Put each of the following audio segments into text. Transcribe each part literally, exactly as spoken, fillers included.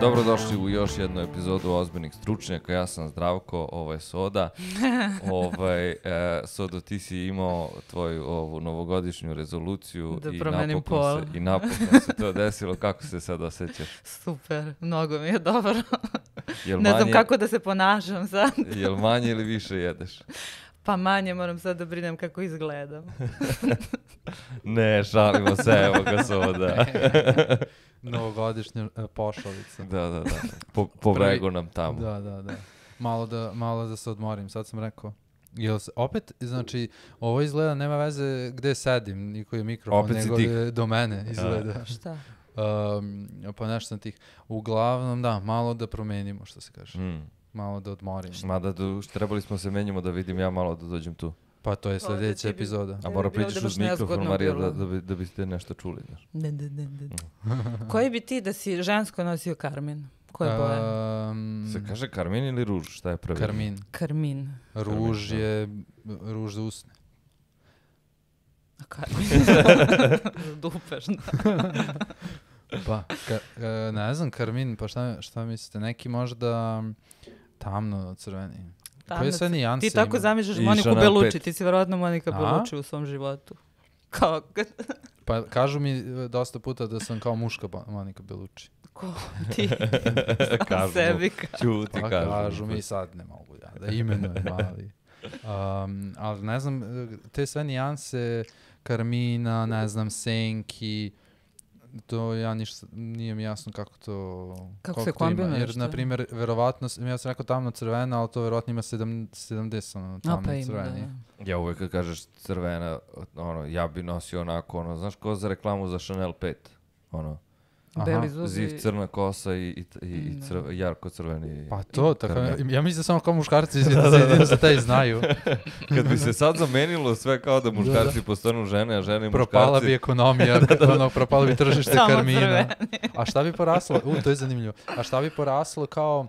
Dobrodošli u još jednu epizodu Ozbiljnih stručnjaka. Ja sam Zdravko, ovo je Soda. ovaj, e, Sodo, ti si imao tvoju ovu novogodišnju rezoluciju da i promenim napokon, pol. se, i napokon se to desilo. Kako se sad osjećaš? Super, mnogo mi je dobro. Jel ne manje, znam kako da se ponašam sad. Jel manje ili više jedeš? Pa manje, moram sad da brinem kako izgledam. Ne, šalimo se, evo ga Soda. Novogodišnja uh, pošalica. Da, da, da. Po, po bregu nam tamo. Da, da, da. Malo da, malo da se odmorim. Sad sam rekao, jel se, opet, znači, ovo izgleda, nema veze gde sedim, niko je mikrofon, Opet si nego tih. je do mene izgleda. Šta? Um, pa nešto sam tih. Uglavnom, da, malo da promenimo, što se kaže. Mm. Malo da odmorim. Mada do, trebali smo se menjamo da vidim ja malo da dođem tu. Pa to je Pa, da sljedeća ti bi- epizoda. A bi mora bilo priđeš da uz baš mikrofon, nezgodno Marija, bilo. da, da, bi, da biste nešto čuli. Znaš. Ne, ne, ne, ne. Koji bi ti da si žensko nosio karmin? Koje boje? Um, Se kaže karmin ili ruž? Šta je prvi? Karmin. Karmin. Ruž Karmin, da. je ruž za usne. A karmin? Dupeš, da. Pa, ka, e, ne znam, karmin, pa šta, šta mislite? Neki možda tamno crveni. Koje sve nijanse Ti tako ima? zamišljaš I Moniku Chanel Bellucci, pet. ti si verovatno Monika A? Bellucci u svom životu. Kao, Pa kažu mi e, dosta puta da sam kao muška Bo- Monika Bellucci. ko ti Kažu mu. sebi kao. Ćuti, Pa kažu. kažu mi sad ne mogu ja da imenujem, ali... Um, ali ne znam, e, te sve nijanse karmina, ne znam, senki, to ja ništa, nije mi jasno kako to... Kako koliko se to ima. kombinuje, Jer, šta? na primjer, verovatno, s- ja sam rekao tamno crvena, ali to verovatno ima sedam, sedamdeset ono, A, tamno pa ima, crveni. da. Ja uvek kad kažeš crvena, ono, ja bi nosio onako, ono, znaš ko za reklamu za Chanel pet? Ono, Aha. Beli zubi. ziv, crna kosa i, i, i, i Da. crv, jarko crveni. Pa to, tako, karmen. ja mislim da samo kao muškarci jedino za taj znaju. Kad bi se sad zamenilo sve kao da muškarci postanu žene, a žene i muškarci... Propala bi ekonomija, ono, propalo bi tržište Samo karmina. crveni. A šta bi poraslo? U, to je zanimljivo. A šta bi poraslo kao...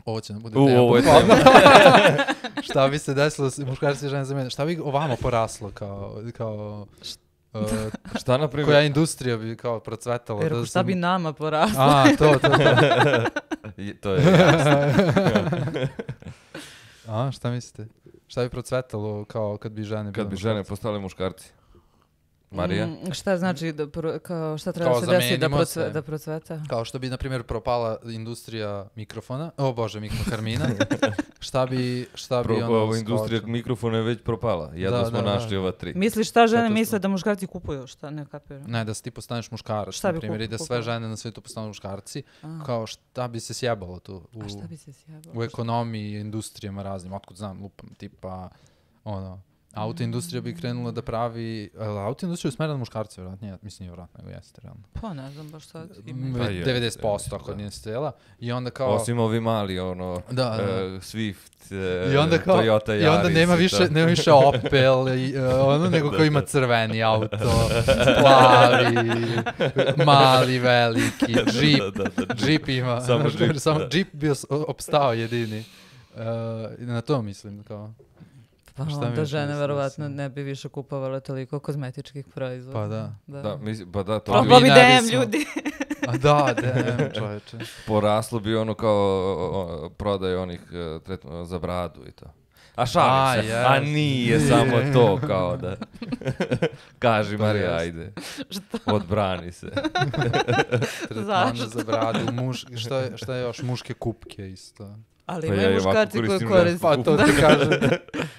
Ovo će nam bude U, tema. ovo je bukvalno. tema. Šta bi se desilo s muškarci i žene za mene? Šta bi ovamo poraslo kao... kao uh, Šta, na primjer? koja industrija bi kao procvetala? Jer da šta sam- bi nama poraslo? A, to, to, to. I- to je jasno. A, šta mislite? Šta bi procvetalo kao kad bi žene bile Kad bi žene muškarci? postale muškarci. Marija? Mm, šta znači, da pro, kao, šta treba Kao se desiti da, zamenimo procve, se. da procveta? Kao što bi, na primjer, propala industrija mikrofona. O bože, mikrokarmina. šta bi, šta bi Pro, ono... ova industrija skočilo? mikrofona je već propala. Jedno Da, smo da, da. našli ova tri. Misliš šta žene Katastrofa. misle da muškarci kupuju? Šta, ne kapiram. Ne, da se ti postaneš muškarac, Šta na bi primjer, i da kup- sve kupila? žene na svijetu postanu muškarci. A. Kao šta bi se sjebalo tu u, A šta bi se sjebalo? u ekonomiji i industrijama raznim, otkud znam, lupam, tipa, ono, autoindustrija bi krenula da pravi, ali autoindustrija je usmerena na muškarce, vjerojatno, nije, mislim nije vjerojatno, nego jeste, realno. Pa ne znam baš sad. Mm, Pa je, devedeset posto ja mislim, ako da. nije stela. I onda kao... Osim ovi mali, ono, Da, da. e, Swift, e, I onda kao, Toyota Yaris. i onda nema i više, to. nema više Opel, i, uh, ono, nego ko ima crveni auto, plavi, mali, veliki, džip, Da, da, da. džip ima, Samo znaš, džip, samo da. džip bio s- opstao jedini. Uh, i na to mislim, kao, Pa šta mi onda još žene misliš, verovatno mislim? ne bi više kupovale toliko kozmetičkih proizvoda. pa da. Da, mislim, pa da, to Pa bi Probao mi bi ne D M bismo- ljudi. A da, damn, čoveče. poraslo bi ono kao o, o, prodaj onih e, tretmana za bradu i to. A šalim A, se, jest. a nije samo to kao da. Kaži To Marija, jest. ajde. Odbrani se. Tretman Zašto? za bradu, muš, šta, je, šta je još, muške kupke isto. Ali Pa imaju ja i ovako muškarci koji koristim koriste. žensku Pa to ti kažem.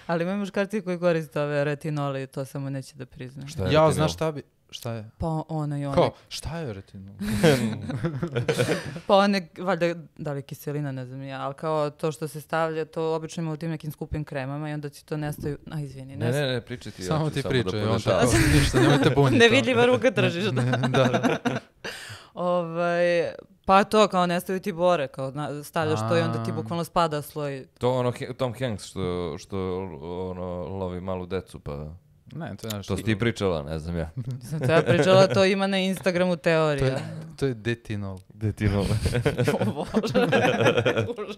Ali imaju muškarci koji koriste ove retinole i to samo neće da priznaju. Šta je Ja, retinol? znaš šta bi, šta je? Pa ona i ona. Kao, šta je retinol? Pa one, valjda, da li kiselina, ne znam ja, ali kao to što se stavlja, to obično ima u tim nekim skupim kremama i onda ti to nestaju, a izvini, Ne, nestaju. ne, ne, pričaj ti. ja Samo ću ti da pričaj, on podešavam. tako, ništa, nemojte buniti. Nevidljiva ruka držiš, da. da, da. Ovaj, pa to, kao nestaju ti bore, kao na- stavljaš to i onda ti A. bukvalno spada sloj. To ono He- Tom Hanks što, što ono, lovi malu decu, pa Ne, to je nešto. što si ti pričala, ne znam ja. Sam te ja pričala, to ima na Instagramu To teorija. je, to je detinol. Detinol. O Bože. Užas.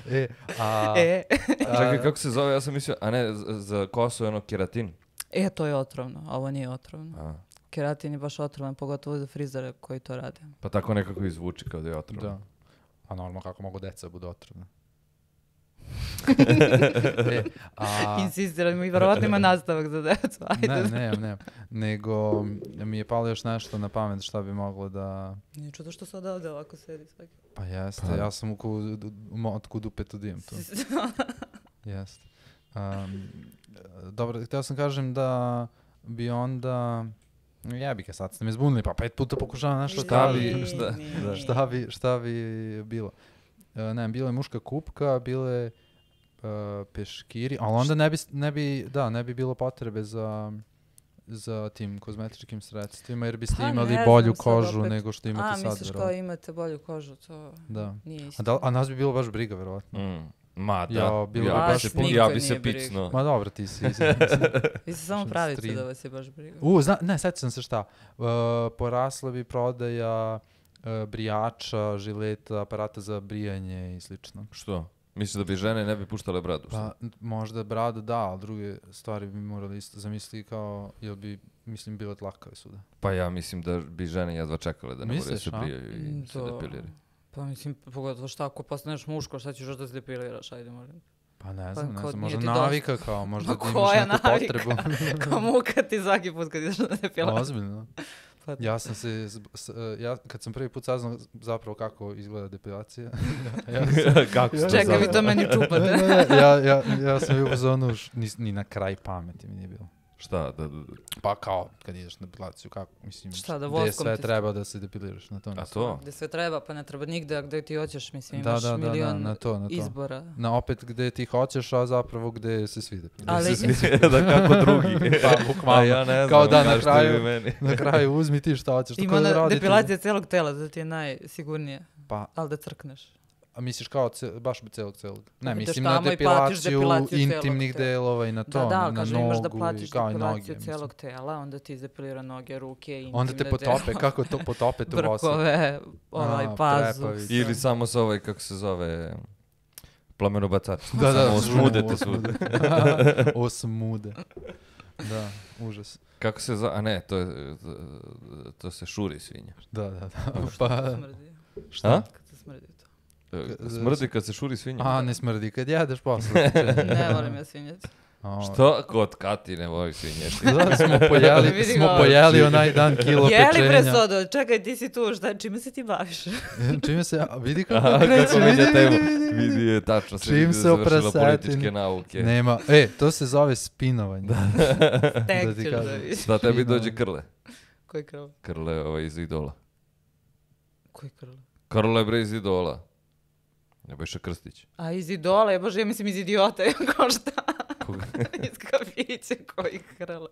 E, a, E. a- Čekaj, kako se zove? Ja sam mislio, a ne, za, za kosu je ono keratin. E, to je otrovno, ovo nije otrovno. A. keratin je baš otrovan, pogotovo za frizere koji to rade. Pa tako nekako izvuči kao da je otrovan. Da. A normalno kako mogu deca budu otrovne. e, a... Insistiramo i verovatno ima nastavak za decu. Ajde. Ne, ne, ne. Nego mi je palo još nešto na pamet šta bi moglo da... Nije čudo što sad ovde ovako sedi svaki. Pa jeste, Pa. ja sam u, ku, u motku dupetu dijem tu. Jeste. Um, dobro, htio sam kažem da bi onda... Jebike, sad ste me zbunili, pa pet puta pokušavam nešto Šta da- bi- šta- da. šta bi, šta bi bilo? Uh, ne, bilo je muška kupka, bilo je uh, peškiri, ali onda ne bi, ne bi, da, ne bi bilo potrebe za, za tim kozmetičkim sredstvima, jer biste Pa imali ne bolju znam sad kožu opet. nego što imate A, sad. misliš kao verovatno. imate bolju kožu, to Da. nije isto. A, da, a nas bi bilo baš briga, verovatno. Mm. Ma da, Ja, bilo ja, bi bi baš se, puno- ja bi Nikad se nije briga. picnuo. Ma dobro, ti si... Vi se samo Što pravite stream. da vas je baš briga. U, zna, ne, sjećam sam se šta. Uh, porasla bi prodaja uh, brijača, žileta, aparata za brijanje i slično. Što? Misliš da bi žene ne bi puštale bradu? Pa n- možda brada da, ali druge stvari bi morali isto zamisliti kao, jel bi, mislim, bile tlakave svuda. Pa ja mislim da bi žene jedva čekale da ne moraju da Misliš, se a? brijaju i se Da. depiliraju. Pa mislim, pogotovo šta ako postaneš muško, šta ćeš još da se depiliraš, ajde molim. Pa ne Pa znam, ne kao znam, nije možda ti dosta. navika kao, možda Ma da imaš koja neku navika? potrebu. Kao muka ti svaki put kad ideš na depilaciju. Ozbiljno. Pa- Ja sam se, zb- s- uh, ja kad sam prvi put saznao zapravo kako izgleda depilacija, ja sam, Kako se Čekaj, vi zove? to meni ne, čupate. ne, ja, ja, ja sam bio u zonu, š- ni, ni na kraj pameti mi nije bilo. Šta? Da, da, Pa kao, kad ideš na depilaciju, kako, mislim, Šta, da gde voskom sve ti- treba da se depiliraš, na to a mislim. to? Gde sve treba, pa ne treba nigde, a gde ti hoćeš, mislim, Da, imaš da, da, da, milion na to, na to. izbora. Na opet gde ti hoćeš, a zapravo gde se svi depiliraju. Ali- Se svi- da kako drugi. Pa, bukvalno. A ja ne znam, Kao da, na kažete kraju- vi meni. Na kraju uzmi ti šta hoćeš. Ima tako da ona radite. depilacija celog tela, da ti je najsigurnije, Pa, ali da crkneš. a misliš kao ce, baš celog celog? Ne, Ideš mislim na tamo i platiš depilaciju depilaciju celog intimnih tela. delova i na to, Da, da, na kaže nogu imaš da i platiš kao i noge. depilaciju mislim. celog tela, onda ti izdepilira noge, ruke, intimne Onda te potope, delove, kako to potope tu vosu? brkove, ovaj A, pazu. trepavice. sve. Ili samo sa ovaj, kako se zove, plamenobacač. Da, da, Samo osmudete osmude. svuda. Osmude. Da, užas. Kako se zove, a ne, to, je, to se šuri svinja. Da, da, da. Pa... Pa, Smrdi. šta? Kad se smrdi to. E, K- Smrdi kad se šuri svinja. A, ne smrdi, kad jedeš posle. Ne volim ja svinjac. A, Što? Kod Kati ne voli svinješke. Da, smo pojeli, Vidi smo ga. pojeli onaj dan kilo Je li pečenja. bre Sodo? Čekaj, ti si tu, šta, čime se ti baviš? Čime se, a, vidi kako Aha, kreće, kako vidi, menja vidi, temu. vidi, vidi. Vidi je tačno se Čim vidi da se je završila oprasetini. političke nauke. Nema, e, to se zove spinovanje. Tek Da ti ćeš da kažem. vidiš. Da tebi Fino. dođe Krle. Koji krl? Krle ovaj iz Idola. Koji krl? Krle bre iz Idola. Nebojša Krstić. A iz idola, je bože, ja mislim iz idiota, kao šta? Koga? Iz kafića koji krle.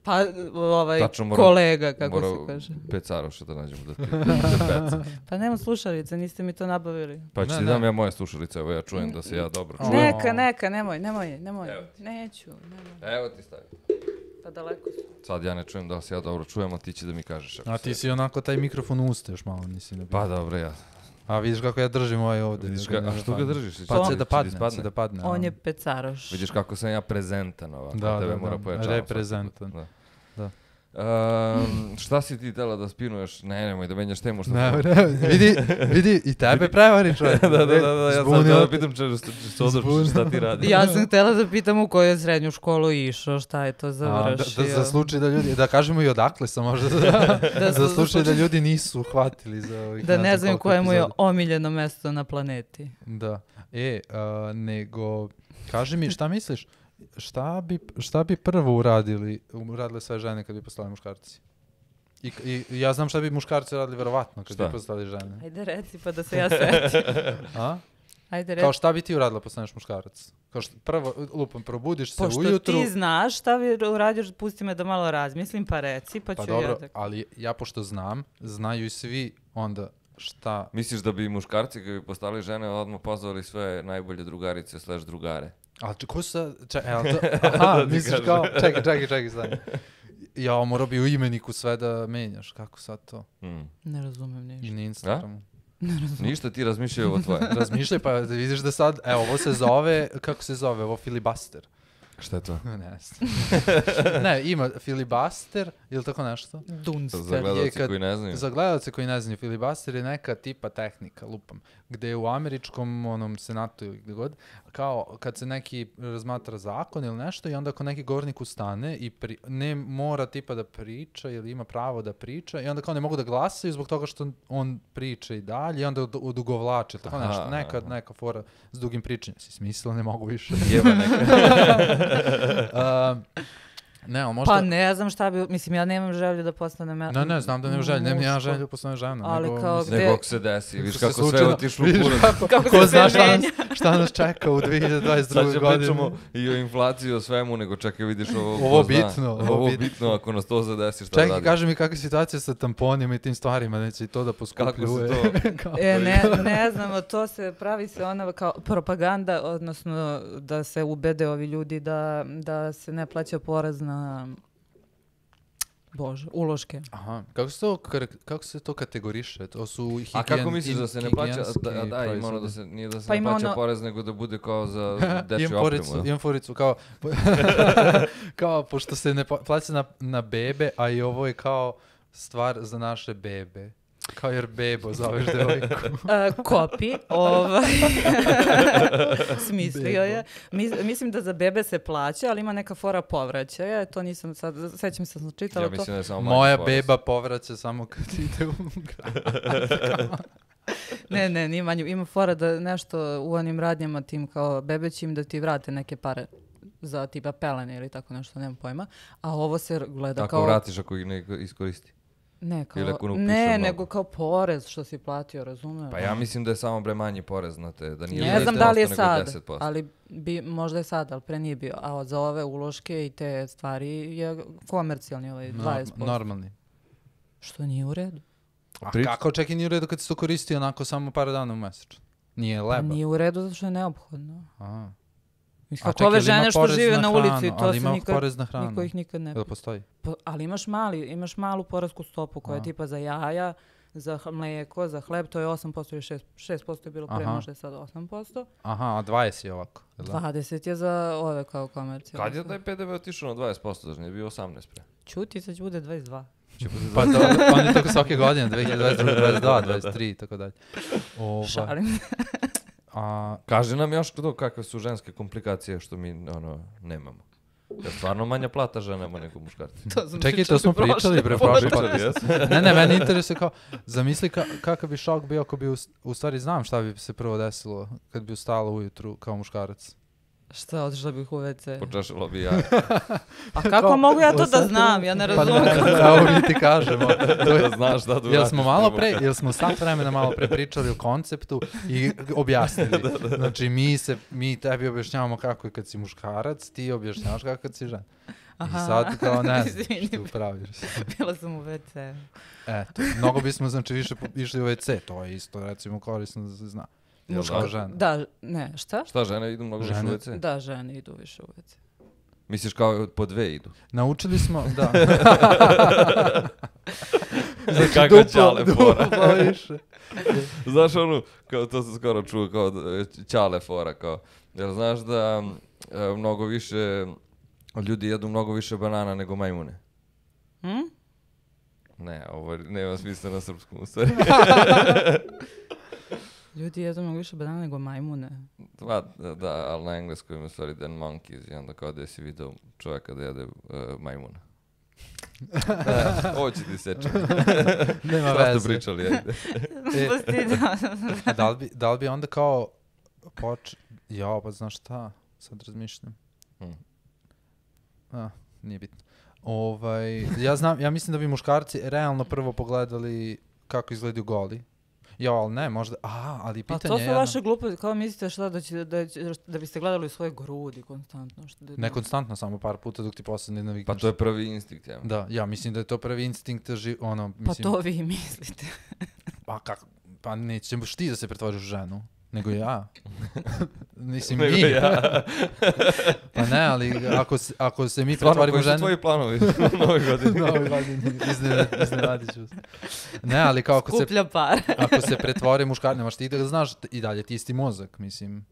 Pa, ovaj, Tačno moram- kolega, kako Mora se kaže. Pecaroša da nađemo da ti da peca. Pa nema slušalice, niste mi to nabavili. Pa ću Ne, ti ne. dam ja moje slušalice, evo ja čujem da se ja dobro O. čujem. Neka, neka, nemoj, nemoj, nemoj. Evo Neću, nemoj. Evo ti stavi. Pa daleko su. Sad ja ne čujem da li se ja dobro čujem, a ti će da mi kažeš. ako A se- ti si onako taj mikrofon u usta još malo nisi nabio. Pa dobro, ja. A vidiš kako ja držim ovaj ovdje. Vidiš da ga ga, a ne što ga padne. držiš? Pa Će- će da će padne, ispadne? će da padne. On a. je pecaroš. Vidiš kako sam ja prezentan ovako, Da, tebe da, mora da. pojačavam. Reprezentan. svaki put, Da. Ehm, šta si ti tela da spinuješ? Ne, nemoj da menjaš temu što Ne, smo- ne, vidi, vidi, i tebe prevari čovjek. da, da, da, da, ja sam Zbunio da te. pitam če, što odlučiš šta ti radi. Ja sam htjela da pitam u koju je srednju školu išao, šta je to A, da, završio. da, za slučaj da ljudi, da kažemo i odakle sam možda, da, Da za su- slučaj da ljudi nisu uhvatili za ovih Da ne znam znam koliko koje mu je epizoda. omiljeno mesto na planeti. Da. E, a, nego, kaži mi, šta misliš, šta bi, šta bi prvo uradili, uradile sve žene kad bi postali muškarci? I, i, i ja znam šta bi muškarci radili verovatno kad Šta? bi postali žene. Ajde reci pa da se ja setim. A? Ajde reci. Kao šta bi ti uradila postaneš muškarac? Kao što, prvo, lupom, probudiš se Pošto ujutru. ti znaš šta bi uradio, pusti me da malo razmislim, pa reci, pa ću Pa ja dobro, da... ali ja pošto znam, znaju i svi onda šta... Misliš da bi muškarci kad bi postali žene odmah pozvali sve najbolje drugarice slash drugare? Ali če- ko su sad... Čekaj, evo to... Aha, Da ti misliš kažem. kao... Čekaj, čekaj, čekaj, stani. Ja, morao bi u imeniku sve da menjaš. Kako sad to? Hmm. Ne razumem I ništa. na Instagramu. Ništa ti razmišljaju ovo tvoje. Razmišljaj pa da vidiš da sad... Evo, ovo se zove... Kako se zove? Ovo filibuster. Šta je to? Ne znam. Ne, ima filibuster ili tako nešto. Dunster. Za gledalce koji ne znaju. Za gledalce koji ne znaju, filibuster je neka tipa tehnika, lupam, gde je u američkom onom senatu ili gde god, kao kad se neki razmatra zakon ili nešto i onda ako neki govornik ustane i pri, ne mora tipa da priča ili ima pravo da priča i onda kao ne mogu da glasaju zbog toga što on priča i dalje i onda od, odugovlače, tako Aha, nešto, neka, aha. neka fora s dugim pričanjem. Si smislila, ne mogu više. Jeba neka. uh, ne, ali možda... Pa ne znam šta bi, mislim ja nemam želju da postanem ja, Ne, ne, znam da nemam želju, nemam ja muško. želju da postanem žena. Ali nego, kao mislim, gde- Nego ako se desi, viš se kako sve slučajno- otišlo u vidiš kurac. kako- Kako Ko se zna sve šta nas, menja. šta nas čeka u dve hiljade dvadeset Sad druge će godine. pričamo i o inflaciji, o svemu, nego čekaj vidiš ovo. ko Ovo zna. bitno, ovo Ovo bitno. bitno, ako nas to zadesi, šta Čekaj, radi? kaži mi kakva je situacija sa tamponima i tim stvarima, neće i to da poskupljuje. Kako se to... Kao- E, ne, ne znam, to se pravi se ona kao propaganda, odnosno da se ubede ovi ljudi da, da se ne plaća porez na, bože, uloške. Aha, kako se to, karak- kako se to kategoriše? To su higijen, A kako misliš da se ne plaća, higijenski da, da, ima ono da proizvodi. se, nije da se Pa ne ima plaća ono- porez, nego da bude kao za dečju Imam foricu, opremu. imam foricu, kao, kao, pošto se ne pla- plaća na, na bebe, a i ovo je kao stvar za naše bebe. Kao jer bebo zoveš devojku. Uh, kopi, ovaj, smislio je. Mis- mislim da za bebe se plaća, ali ima neka fora povraćaja, to nisam sad, sećam se da sam čitala Ja to. mislim da je samo manji Moja porez. beba povraća samo kad ide u grad. Ne, ne, nije manje. Ima fora da nešto u onim radnjama tim kao bebećim da ti vrate neke pare za tipa pelene ili tako nešto, nemam pojma. A ovo se gleda Ako kao... vratiš ako ih ne iskoristi. Ne, kao, ili ako ne upiše ne, mnogo. nego kao porez što si platio, razumem. Pa ja mislim da je samo bre manji porez, znate, da nije Ne znam deset da li je posto, nego sad, deset posto. ali bi, možda je sad, ali pre nije bio. A za ove uloške i te stvari je komercijalni ovaj dvadeset posto. Normalni. Što nije u redu. A Prič- kako čak i nije u redu kad se to koristi onako samo par dana u mesečno? Nije Pa leba. nije u redu zato što je neophodno. Aha. Mislim, A kako čekaj, ove jel ima žene što porez žive na na ulici, hranu? to Ali se ima nikad, porez na hranu? niko ih nikad ne... Jel postoji? Pa, ali imaš mali, imaš malu poresku stopu koja je A. tipa za jaja, za h- mlijeko, za hleb, to je osam posto ili šest posto. šest posto je bilo pre, Aha. možda je sad osam posto. Aha, a dvadeset je ovako. jel da? dvadeset je za ove kao komercijalne. Kad je taj P D V otišao na dvadeset posto, znači je bio osamnaest pre. Čuti, sad će bude dvadeset dva. Pa to, on je tako svake godine, dve hiljade dvadeset druge, dvadeset dva, dvadeset tri i tako dalje. Ova, Šalim. a, Kaže nam još to kakve su ženske komplikacije što mi ono nemamo. Ja stvarno manja plata ženama nego muškarci. To smo čekaj, to smo pričali, bre, prošle Pričali, podcast. jes? Ne, ne, meni interesuje kao, zamisli ka, kakav bi šok bio ako bi, u, u stvari znam šta bi se prvo desilo kad bi ustala ujutru kao muškarac. Šta, otišla bih u ve ce? Počešalo bi ja. A kako Kao, mogu ja to da osjetila- znam? Ja ne Pa razumem. ne, evo mi ti kažemo. To je- Da znaš šta tu Jel radiš smo malo prvo. pre, jel smo sat vremena malo pre pričali o konceptu i objasnili. Znači mi se, mi tebi objašnjavamo kako je kad si muškarac, ti objašnjavaš kako kad si žena. Aha. I sad kao ne znam Izvini. što praviš. Bila sam u ve ce. Eto, mnogo bismo znači više po- išli u ve ce, to je isto recimo korisno da se zna. Jel Muška da? žena. Da, ne, šta? Šta, žene idu mnogo više Žene- u ve ce? Da, žene idu više u ve ce. Misliš kao po dve idu? Naučili smo, da. Znači, kako ćale fora. duplo više. Znaš onu, kao to sam skoro čuo, kao da, ćale fora, kao, jel znaš da e, mnogo više, ljudi jedu mnogo više banana nego majmune? Hm? Ne, ovo nema smisla na srpskom, u stvari. Ljudi jedu mnogo više banana nego majmune. Pa, da, da, ali na engleskom ima u stvari than monkeys i onda kao da si vidio čovjeka da jede uh, majmuna. E, ovo ću ti seći. Nema Šta ste veze. pričali, ajde. E, Postidila sam se. a da li bi, da li bi onda kao poč... Ja, pa znaš šta, sad razmišljam. Hmm. A, nije bitno. Ovaj, ja znam, ja mislim da bi muškarci realno prvo pogledali kako izgledaju goli. Ja, ali ne, možda, a, ali Pa pitanje to su je jedno- vaše gluposti, kao mislite šta da, će, da, će, da biste gledali u svoje grudi konstantno. Što da, Ne konstantno, samo par puta dok ti posle ne navikneš. Pa to je prvi instinkt, ja. Da, ja mislim da je to prvi instinkt, ži, ono, Pa mislim... to vi mislite. Pa kako, pa nećeš ti da se pretvoriš u ženu, nego ja. Mislim, Nego mi. ja. Pa ne, ali ako se, ako se mi Stvarno, pretvorimo u koji su ženu... tvoji planovi u novoj godini? Novoj godini, iznenad- iznenadit ću se. Ne, ali kao ako se, Skuplja par. ako se pretvori muškar, nemaš ti da znaš i dalje, ti isti mozak, mislim.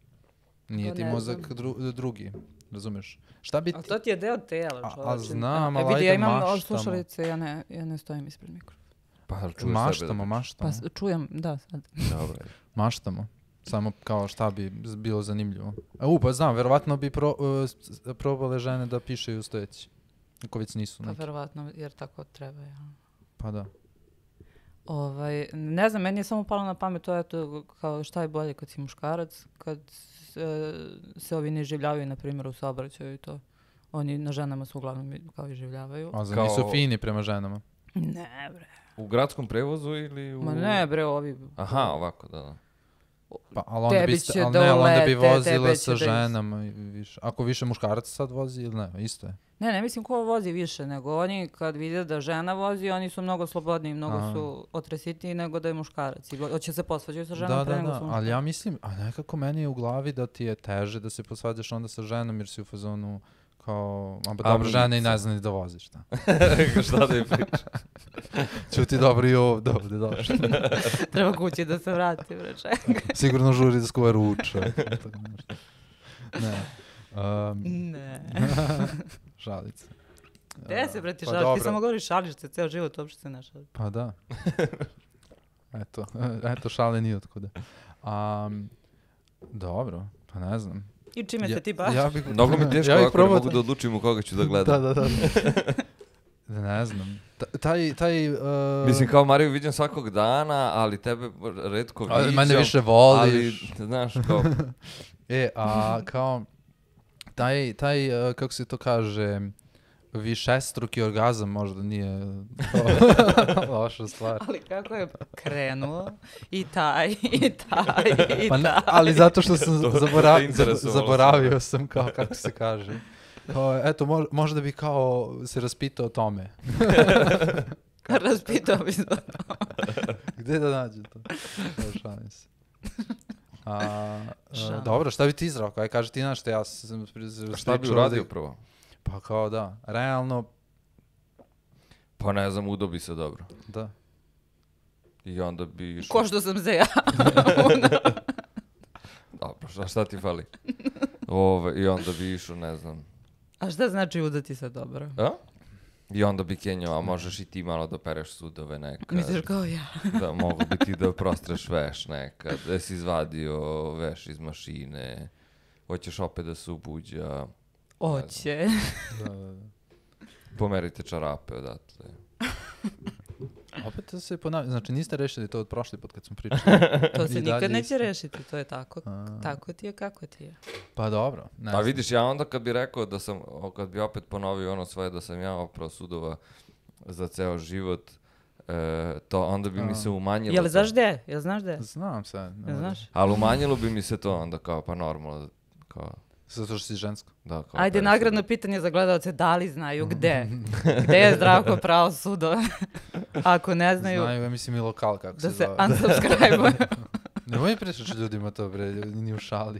Nije To ti ne mozak znam. dru, drugi. razumeš? Šta bi A ti... to ti je deo tela, A- a čovječe. znam, E, ali vidi, ajde ja imam maštamo. slušalice, ja ne, ja ne stojim ispred mikrofona. Pa jel čuješ Maštamo, sebe da maštamo, Pa s- čujem, da, sad. pričaš? Dobro. maštamo. Samo kao šta bi z- bilo zanimljivo. A u, pa znam, verovatno bi pro, uh, s- probale žene da pišeju stojeći. Ako već nisu Pa neki. verovatno, jer tako treba, ja. Pa da. Ovaj, ne znam, meni je samo palo na pamet to, eto, kao šta je bolje kad si muškarac, kad se, se ovi ne življavaju, na primjer, u saobraćaju i to. Oni na ženama su uglavnom i- kao i življavaju. A za Kao- nisu fini prema ženama. Ne, bre. U gradskom prevozu ili u... Ma ne, bre, ovi... Aha, ovako, da, da. Pa, ali onda bi, Tebi sta- će ali ne, ali onda bi dolete, vozila tebe sa će da is- ženama. i više. Ako više muškaraca sad vozi ili ne, isto je. Ne, ne mislim ko vozi više, nego oni kad vide da žena vozi, oni su mnogo slobodniji, mnogo Aha. su otresitiji nego da je muškarac. I go- hoće se posvađaju sa ženom Da, pre da, nego da, su ali muškarci. ja mislim, a nekako meni je u glavi da ti je teže da se posvađaš onda sa ženom jer si u fazonu kao, a ba A dobro, žena i mica. ne zna ni da voziš, šta. Šta da je priča? Ču ti dobro i ovdje, ovdje došli. Treba kući da se vrati, bre, čekaj. Sigurno žuri da skuva ruča. Tako nešto. Ne. Um, Ne. šalica. Gde se, bre, ti Pa šališ? Ti dobro. samo govoriš šališ se, ceo život uopšte se ne šališ. Pa da. Eto, eto šale ni otkuda. Um, dobro, pa ne znam. I čime Ja- se ti baviš? Ja bih, Mnogo mi je teško ja bih ovako, ne probao mogu da odlučim u koga ću da gledam. Da, da, da. Ne znam. Ta- Taj, taj... Uh, Mislim, kao Mariju vidim svakog dana, ali tebe redko ali viđam. mene više Ali, voliš. znaš, kao... E, a kao... Taj, taj uh, kako se to kaže... Višestruki orgazam možda nije kao loša stvar. Ali kako je krenuo i taj, i taj, i Pa ne, taj. ali zato što sam To- to zabora- te interesovalo zaboravio sam kao kako se kaže. Kao, eto, mo- možda bi kao se raspitao o tome. Raspitao bi se. Gde da nađe to? Evo, šalim se. A, a, Šalim. dobro, šta bi ti izrao? Aj, kaži ti nešto, ja sam... A šta bi uradio prvo? Pa kao da, realno, Pa ne znam, udobi se dobro. da. I onda bi išao... Ko što sam se ja. Dobro, šta, šta ti fali? Ove, I onda bi išao, ne znam... A šta znači udati se dobro? A? I onda bi kenjao, a možeš i ti malo da pereš sudove nekad. Misliš kao ja? Da, mogu bi ti da prostreš veš nekad. Da si izvadio veš iz mašine. Hoćeš opet da se ubuđa. Oće. Da, da, da. Pomerite čarape odatle. Opet to se ponavlja, znači niste rešili to od prošli put kad smo pričali. To I se dalje nikad neće isto. rešiti, to je tako. A. Tako ti je, kako ti je. Pa dobro, ne A znam. vidiš, ja onda kad bi rekao da sam, o, kad bi opet ponovio ono svoje da sam ja oprao sudova za ceo život, e, to onda bi mi A. se umanjilo. Jel to. znaš gde? Jel znaš gde? Znam sad. ne Jel moram. znaš? Ali umanjilo bi mi se to onda kao, pa normalno, kao, Zato što si žensko. da, kao Ajde, pereš nagradno sudove. pitanje za gledalce, da li znaju gde? Gde je Zdravko pravo sudo? Ako ne znaju, Znaju, ja mislim i lokal kako da se se zove. unsubscribe. Nemoj pričati ljudima to, bre, ni u šali.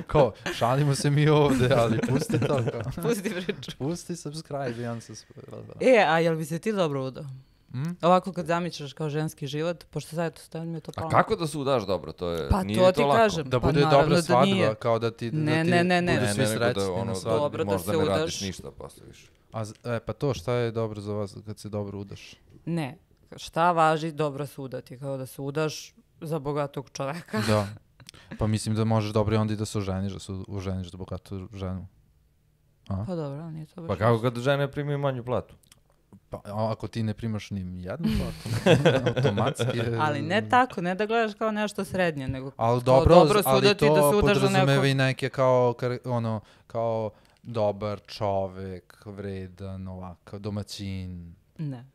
Kao, šalimo se mi ovde, ali pusti to, kao. Pusti priču. Pusti subscribe i unsubscribe. E, a jel bi se ti dobro udao? Mm? Ovako kad zamišljaš kao ženski život, pošto sad to stavljam je to A palo. kako da se udaš dobro? To je, Pa nije to to ti lako. kažem. Da Pa bude naravno dobra da svadba, nije. kao da ti, Ne, da ti ne, ne, ne. budu Ne, svi ne, nego srećni da ono, na da, svadbi. Dobro da možda se ne udaš. radiš ništa posle više. A, z- e, pa to, šta je dobro za vas kad se dobro udaš? Ne. Šta važi dobro se udati? Kao da se udaš za bogatog čoveka. Da. Pa mislim da možeš dobro i onda i da se oženiš, da se oženiš za bogatu ženu. A? Pa dobro, ali nije to baš. Pa kako kad žene primaju manju platu? Pa a ako ti ne primaš ni jednu platu, automatski je... Ali ne tako, ne da gledaš kao nešto srednje, nego Ali kao dobro, dobro se ali udati to da se udaš za podrazumeva neko. i neke kao, kar- ono, kao dobar čovek, vredan, ovakav, domaćin. Ne.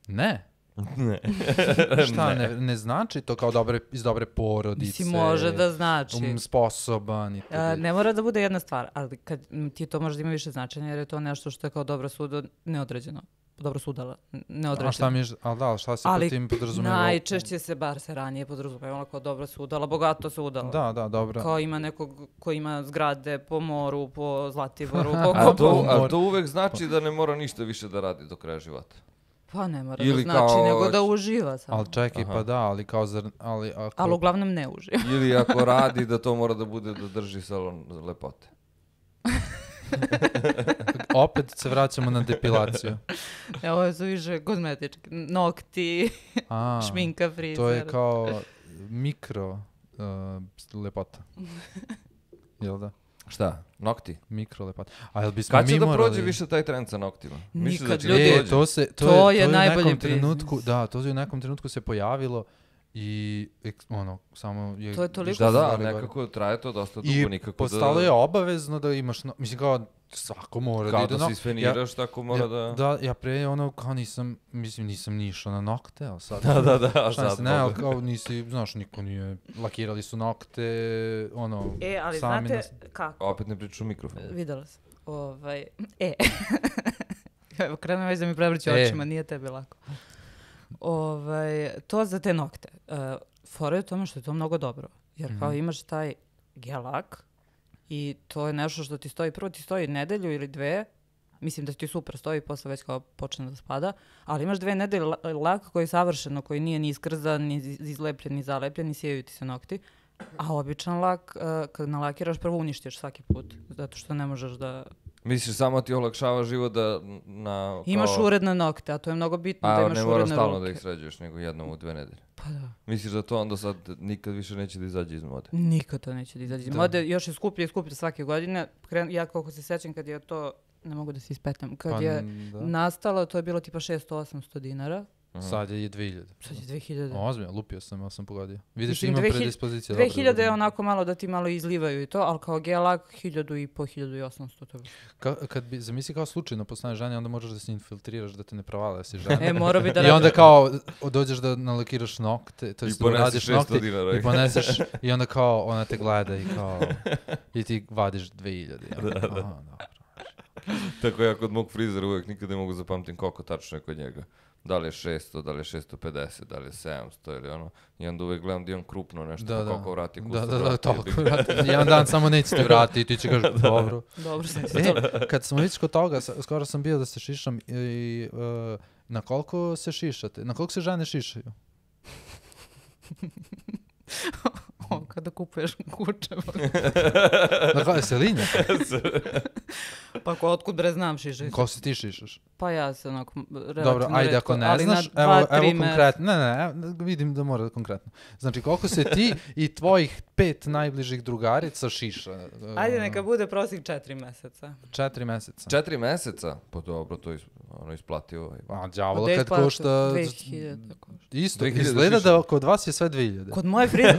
Ne. Ne. Šta, ne, ne znači to kao dobre, iz dobre porodice? Mislim, može da znači. Um, sposoban i to. A, ne mora da bude jedna stvar, ali kad m, ti to možda ima više značenja, jer je to nešto što je kao dobro sudo neodređeno. Dobro sudala, n- neodređeno. A šta mi, ali da, šta se Ali pod tim podrazumeva? najčešće se, bar se ranije podrazumevalo kao dobro sudala, bogato se udala. Da, da, dobro. Kao ima nekog ko ima zgrade po moru, po Zlatiboru, po A kopu. to, a to uvek znači da ne mora ništa više da radi do kraja života. Pa ne mora Ili da znači, kao- nego da uživa samo. Ali čekaj, Aha. pa da, ali kao zar... Ali, ako... Ali uglavnom ne uživa. Ili ako radi da to mora da bude da drži salon lepote. Opet se vraćamo na depilaciju. E, ovo su više kozmetički. Nokti, A, šminka, frizer. to je kao mikro uh, lepota. Jel da? Šta? Nokti? Mikro lepota. A jel bismo Kad će mi da morali... prođe više taj trend sa noktima? Misliš Nikad, da će ljudi. da E, prođe? to se to, To je, je to je u najbolji nekom biznis. trenutku, da, to je u nekom trenutku se pojavilo i eks, ono samo je To je toliko Da, da, stvari gore. nekako traje to dosta dugo, I nikako postalo da... je obavezno da imaš, no, mislim kao svako mora Kao da ide da na... se isfeniraš, tako mora ja, da... Da, ja pre ono kao nisam, mislim nisam ni išao na nokte, ali sad... Da, da, da, a Šta sad se, ne, ali može. kao nisi, znaš, niko nije, lakirali su nokte, ono, E, ali sami znate nas... kako? Opet ne priču u mikrofon. Videla sam. Ovaj, e. Evo, krenuo već da mi prevrći E. očima, nije tebi lako. Ovaj, to za te nokte. Uh, fora je u tome što je to mnogo dobro. Jer kao Mhm. imaš taj gelak i to je nešto što ti stoji, prvo ti stoji nedelju ili dve, mislim da ti super stoji, posle već kao počne da spada, ali imaš dve nedelje la- lak koji je savršeno, koji nije ni iskrzan, ni iz- izlepljen, ni zalepljen, ni sijaju ti se nokti. A običan lak, uh, kad nalakiraš, prvo uništiš svaki put, zato što ne možeš da... Misliš, samo ti olakšava život da na... Imaš kao- uredne nokte, a to je mnogo bitno da A imaš ne uredne moraš stalno ruke. da ih sređuješ, nego jednom u dve nedelje. Pa da. Misliš da to onda sad nikad više neće da izađe iz mode? Nikad to neće da izađe iz Da. mode. Još je skuplje i skuplje svake godine. Kren, ja kako se sećam kad je to, ne mogu da se ispetam, kad Pa, je da. nastalo, to je bilo tipa šesto osamsto dinara. Aha. Sad je dve hiljade. Sad je dve hiljade. Ozbiljno, lupio sam, ali sam pogodio. Vidiš, Mislim, ima dve hiljade- predispozicija. dve dobro da hiljade je budem. onako malo da ti malo izlivaju i to, ali kao gelak hiljadu i po, hiljadu i osamsto. To je. Ka- kad bi, zamisli kao slučajno postane žena, onda možeš da se infiltriraš da te ne provale da si žena. E, mora bi da I radi- onda kao dođeš da nalakiraš nokte, to I jest da poneseš uradiš šesto nokte dinara. i poneseš i onda kao ona te gleda i kao i ti vadiš dve hiljade. Ja. Da, da. Aha, dobro. Tako ja kod mog frizera uvijek nikad ne mogu zapamtim koliko tačno je kod njega. Da li je šesto, da li je šesto pedeset, da li je sedamsto ili ono. I onda uvijek gledam da imam krupno nešto, Da, pa da. koliko vrati kusta. Da, da, da, vrati, toliko. jebi ga. vrati. Jedan dan samo neće ti vratiti i ti će kažeš dobro. Dobro sam E, kad smo već kod toga, sa- skoro sam bio da se šišam i uh, na koliko se šišate? Na koliko se žene šišaju? O, kada kupuješ kuće. Na koliko se linja? Pa ko, otkud bre znam šišaj. Koliko se ti šišaš? Pa ja se onako m, relativno Dobro, ajde retko, ako ne ali znaš, na evo, dva, evo tri meseca. konkretno. Ne, ne, evo, vidim da mora konkretno. Znači, koliko se ti i tvojih pet najbližih drugarica šiša? uh, Ajde, neka bude prosjek četiri meseca. Četiri meseca. Četiri meseca? Pa dobro, to je is- ono isplativo. A, djavola, Od kad deset košta... dve hiljade košta. Isto, dve hiljade izgleda šišanja. da kod vas je sve dve hiljade. Kod moje frize,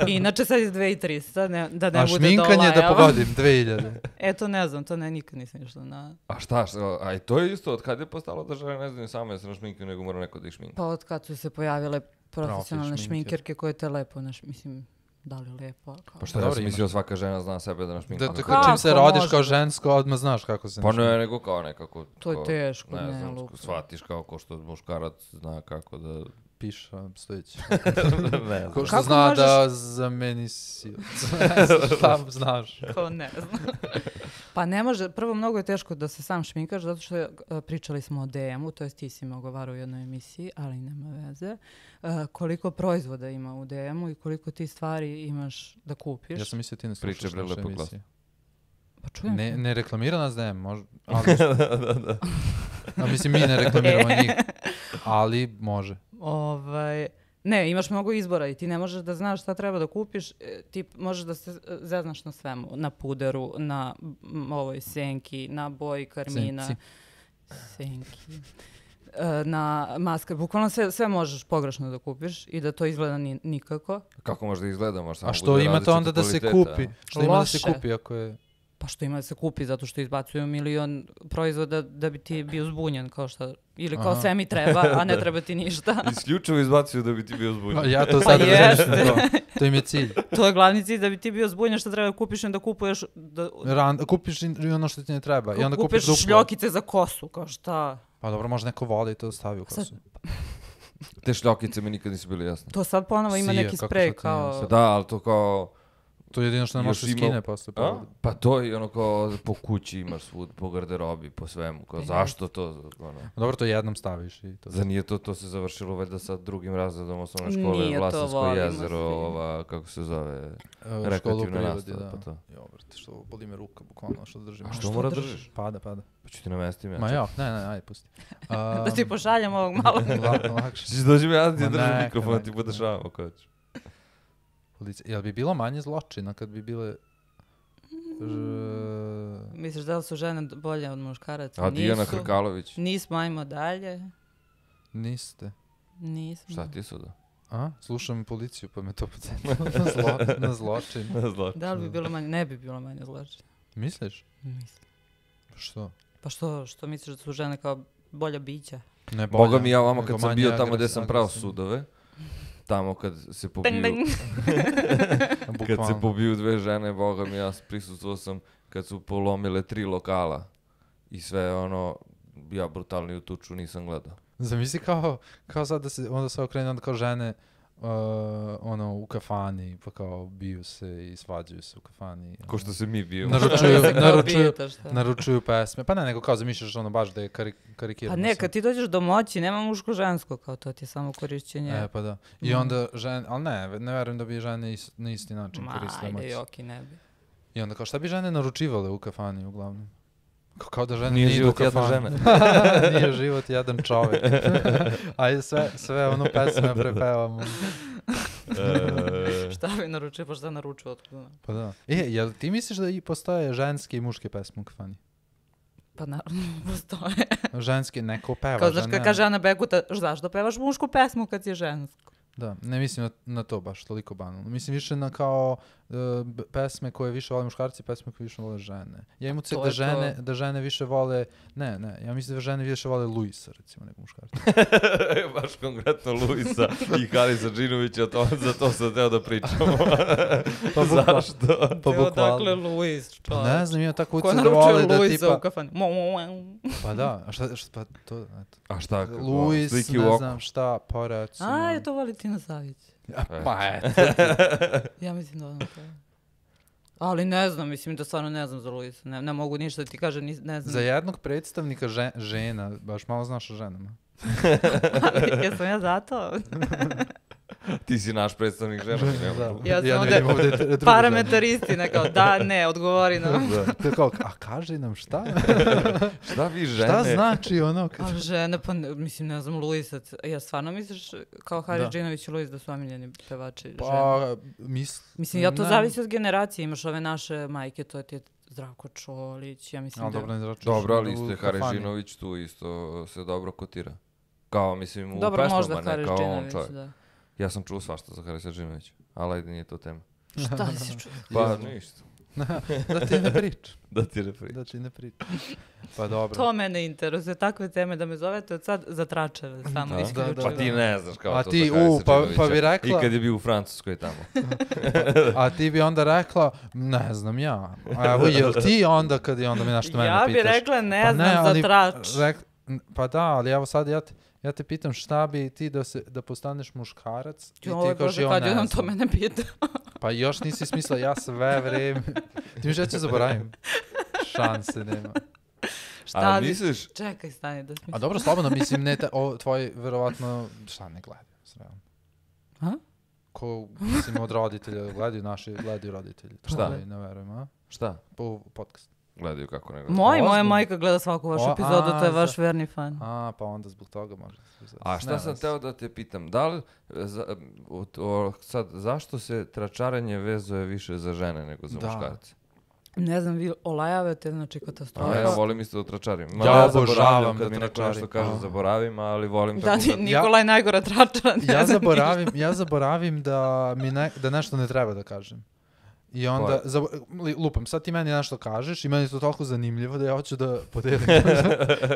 inače sad je dve i trista, ne, da ne A bude šminkanje da dolajava. pogodim, dve hiljade. E, to ne znam, to ne, nikad nisam išla na... A šta, šta, a i to je isto, od kad je postalo da žene ne znaju same da se našminkaju, nego mora neko da ih šminka. Pa od kad su se pojavile profesionalne šminker. šminkerke koje te lepo, naš, mislim, da li lepo? Kao... Pa šta, Dobro, ja sam imaš. mislio svaka žena zna sebe da našminka. Da, da Kako kad čim se rodiš može? kao žensko, odmah znaš kako se Pa našminka. ne, nego kao nekako... To je kao, teško, ne, ne, znam, lupo. shvatiš kao ko što muškarac zna kako da... Piša, stojići. ne znam. Ko što Kako zna možeš- da zameni si. Ne znam šta znaš. Ko ne znam. Pa ne može, prvo mnogo je teško da se sam šminkaš, zato što e, pričali smo o D M-u, to jest ti si me ogovarao u jednoj emisiji, ali nema veze. E, koliko proizvoda ima u D M-u i koliko ti stvari imaš da kupiš. Ja sam mislio ti ne Priče, slušaš bre, naše lepo glas. emisije. Pa čujem Ne, se. ne reklamira nas D M, može. Ali, a mislim, mi ne reklamiramo njih. Ali može. Ovaj, ne, imaš mnogo izbora i ti ne možeš da znaš šta treba da kupiš, e, ti možeš da se e, zeznaš na svemu, na puderu, na m, ovoj senki, na boji karmina. Senci. Senki. E, na maske, bukvalno sve, sve možeš pogrešno da kupiš i da to izgleda ni, nikako. Kako može da izgleda, može samo A što bude imate različitog onda da se kvaliteta, kupi? a? Što ima da se Loše. kupi ako je... Pa što ima da se kupi, zato što izbacuju milion proizvoda da bi ti bio zbunjen, kao što, ili kao Aha. sve mi treba, a ne treba ti ništa. Isključivo izbacuju da bi ti bio Pa zbunjen. ja to Pa sad jeste. razmišljam. To, to im je cilj. To je glavni cilj, da bi ti bio zbunjen, što treba da kupiš i onda kupuješ, da, Ran, kupiš i ono što ti ne treba. I onda kupiš kupiš duplo. šljokice za kosu, kao šta. Pa dobro, može neko voli i to stavi u Sad- kosu. Te šljokice mi nikad nisu bile jasne. To sad ponovo ima Sija, neki kako sprej sad to nije kao... jasno. Da, ali to kao... To je jedino što ne Još možeš ima- skine posle. A? Pa, Pa to je ono kao po kući imaš svud, po garderobi, po svemu. Kao, Pa zašto to? Ono, dobro, to jednom staviš i to. za nije to, to se završilo valjda sa drugim razredom osnovne škole, Nije to, Vlasinsko volimo jezero, svi. ova, kako se zove, E, školu u rekreativna prirodi, nastava, da. pa to. Jo, brate, što boli me ruka, bukvalno što držim. A što što mora držiš? držiš? Pada, pada. Pa ću ti namestim ja. Ma ja, ne, ne, ajde, pusti. Da ti pošaljem ovog malo. La, lakše. Ćeš dođi mi, ja ti Ma držim neka, mikrofon, neka, ti podešavam ako hoćeš. Policija. Jel bi bilo manje zločina kad bi bile... Ž... Misliš da li su žene bolje od muškaraca? A Dijana Nisu. Hrkalović, Nismo, ajmo dalje. Niste. Nismo. šta ti su da? A? Slušam policiju pa me to podsjetilo na, zlo, na zločin. Zločin. Da li bi bilo manje? Ne bi bilo manje zločina. Misliš? Mislim. Što? Pa što, što misliš da su žene kao bolja bića? Ne Boga mi ja vama nego kad sam manje bio tamo gdje agres- sam prao agresivno. sudove, tamo kad se pobiju, Ding, ding. kad se Bukvalno. pobiju dve žene, Boga mi ja prisustvovao sam kad su polomile tri lokala i sve ono, ja brutalniju tuču nisam gledao. Zamisli kao, kao sad da se, onda se okrene, onda kao žene uh, ono, u kafani, pa kao biju se i svađaju se u kafani. Ko što se mi bijemo. Naručuju, Se kao naručuju, bijete, šta? naručuju pesme. Pa ne, nego kao zamišljaš ono baš da je kari, karikirano. Pa ne, sve. kad ti dođeš do moći, nema muško-žensko, kao to ti je samo korišćenje. E, pa da. I Mm. onda žene, ali ne, ne verujem da bi žene is, na isti način Ma, koristile moć. ajde, joki, ne bi. I onda kao šta bi žene naručivale u kafani uglavnom? Kao, kao da žene Nije ne idu u život jedna kafanu. Nije život jedan čovjek. Ajde sve, sve ono pesme prepevamo. E, Šta bi naručio, pa šta naručio otkuda? Pa da. E, jel ti misliš da i postoje ženske i muške pesme u kafani? Pa naravno, postoje. Ženske neko peva, Kao znaš žene- kad kaže Ana Bekuta, zašto pevaš mušku pesmu kad si žensko? Da, ne mislim na, na to baš toliko banalno. Mislim više na kao uh, b- pesme koje više vole muškarci, pesme koje više vole žene. Ja imam utisak To da je žene, to. da žene više vole, ne, ne, ja mislim da žene više vole Luisa recimo nego muškarci. baš konkretno Luisa i Halisa Džinovića, to, za to sam teo da pričamo. Pa bukvalno. Zašto? Pa Evo, dakle, bukvalno. Luis, Pa čovječ. ne znam, imam tako Ko utisak da vole naručuje da Luisa tipa... u kafani? Mo, mo, mo. Pa da, a šta, šta pa to, eto. A šta? Kako? Luis, Sliki u ne oko? znam šta, pa recimo. A, je to Valentina Savić. A, pa eto. Ja mislim da ono to. Ali ne znam, mislim da stvarno ne znam za Luisa. Ne, ne mogu ništa da ti kažem, nis- ne znam. Za jednog predstavnika že- žena, baš malo znaš o ženama. Jesam ja zato? Ti si naš predstavnik žena. mi nemamo Da. drugo. Ja sam ne ovdje vidim ovdje t- drugu Parametristina, kao da, ne, odgovori nam. ženu. To je kao, a kaži nam šta? Šta vi žene? Šta znači ono? Kad... A žene, pa ne, mislim, ne znam, Luisa. Ja stvarno misliš kao Haris Da. Džinović i Luis da su omiljeni pevači žene? Pa, mis... Mislim, ja to ne. zavisi od generacije. Imaš ove naše majke, to ti je Zdravko Čolić, ja mislim Ali da... dobro, ne zračuš Dobro, ali u isto je kafani. Haris Žinović tu isto se dobro kotira. Kao, mislim, u Dobro, možda pesmama, ne Haris kao on Džinović, čovjek. da. Ja sam čuo svašta za Harisa Žinovića, ali ajde nije to tema. Šta si čuo? Pa ništa. Da ti ne pričam. Da ti ne pričam. Da ti ne pričam. Pa dobro. To mene interesuje, takve teme da me zovete od sad za tračeve, samo Da? isključivo. Da, Pa ti ne znaš kao A to ti, za Harisa u, pa- Džinovića. pa bi rekla- I kad je bio u Francuskoj tamo. A ti bi onda rekla, ne znam ja. A evo, jel ti onda kad je onda mi nešto mene Ja bi pitaš? rekla ne Pa znam ali za trač. rek- n- pa da, ali evo sad ja te, ja te pitam šta bi ti da, se, da postaneš muškarac i Joj, ti kažeš Bože, ja kad ne je on to znam. mene pita. Pa još nisi smisla, ja sve vreme. Ti mi žeće zaboravim. Šanse nema. Šta A bi- misliš, Čekaj, stani da smislim. A dobro, slobodno, mislim, ne, te, o, tvoji, verovatno, šta ne gledaju, srealno. A? Ko, mislim, od roditelja, gledaju naši, gledaju roditelji. To Šta? Ne verujem, a? šta? Po podcast. Gledaju kako ne Moj, gledaju. moja Ozbiljno? majka gleda svaku vašu O, epizodu, to je a, vaš za- verni fan. A, pa onda zbog toga može. se- A šta ne sam veze. teo da te pitam, da li, za, o, o, sad, zašto se tračarenje vezuje više za žene nego za Da. muškarce? Ne znam, vi olajavate, znači A katastrofa. ja volim isto da tračarim. Ma Ja ja obožavam zaboravljam kad da mi neko tračarim. nešto kaže A. zaboravim, ali volim Da, tako ti da... Nikolaj najgora tračara. ne Ja znam zaboravim, ja zaboravim da mi ne, da nešto ne treba da kažem. I onda, Koje? zabo- li- lupam, sad ti meni nešto kažeš i meni je to toliko zanimljivo da ja hoću da podelim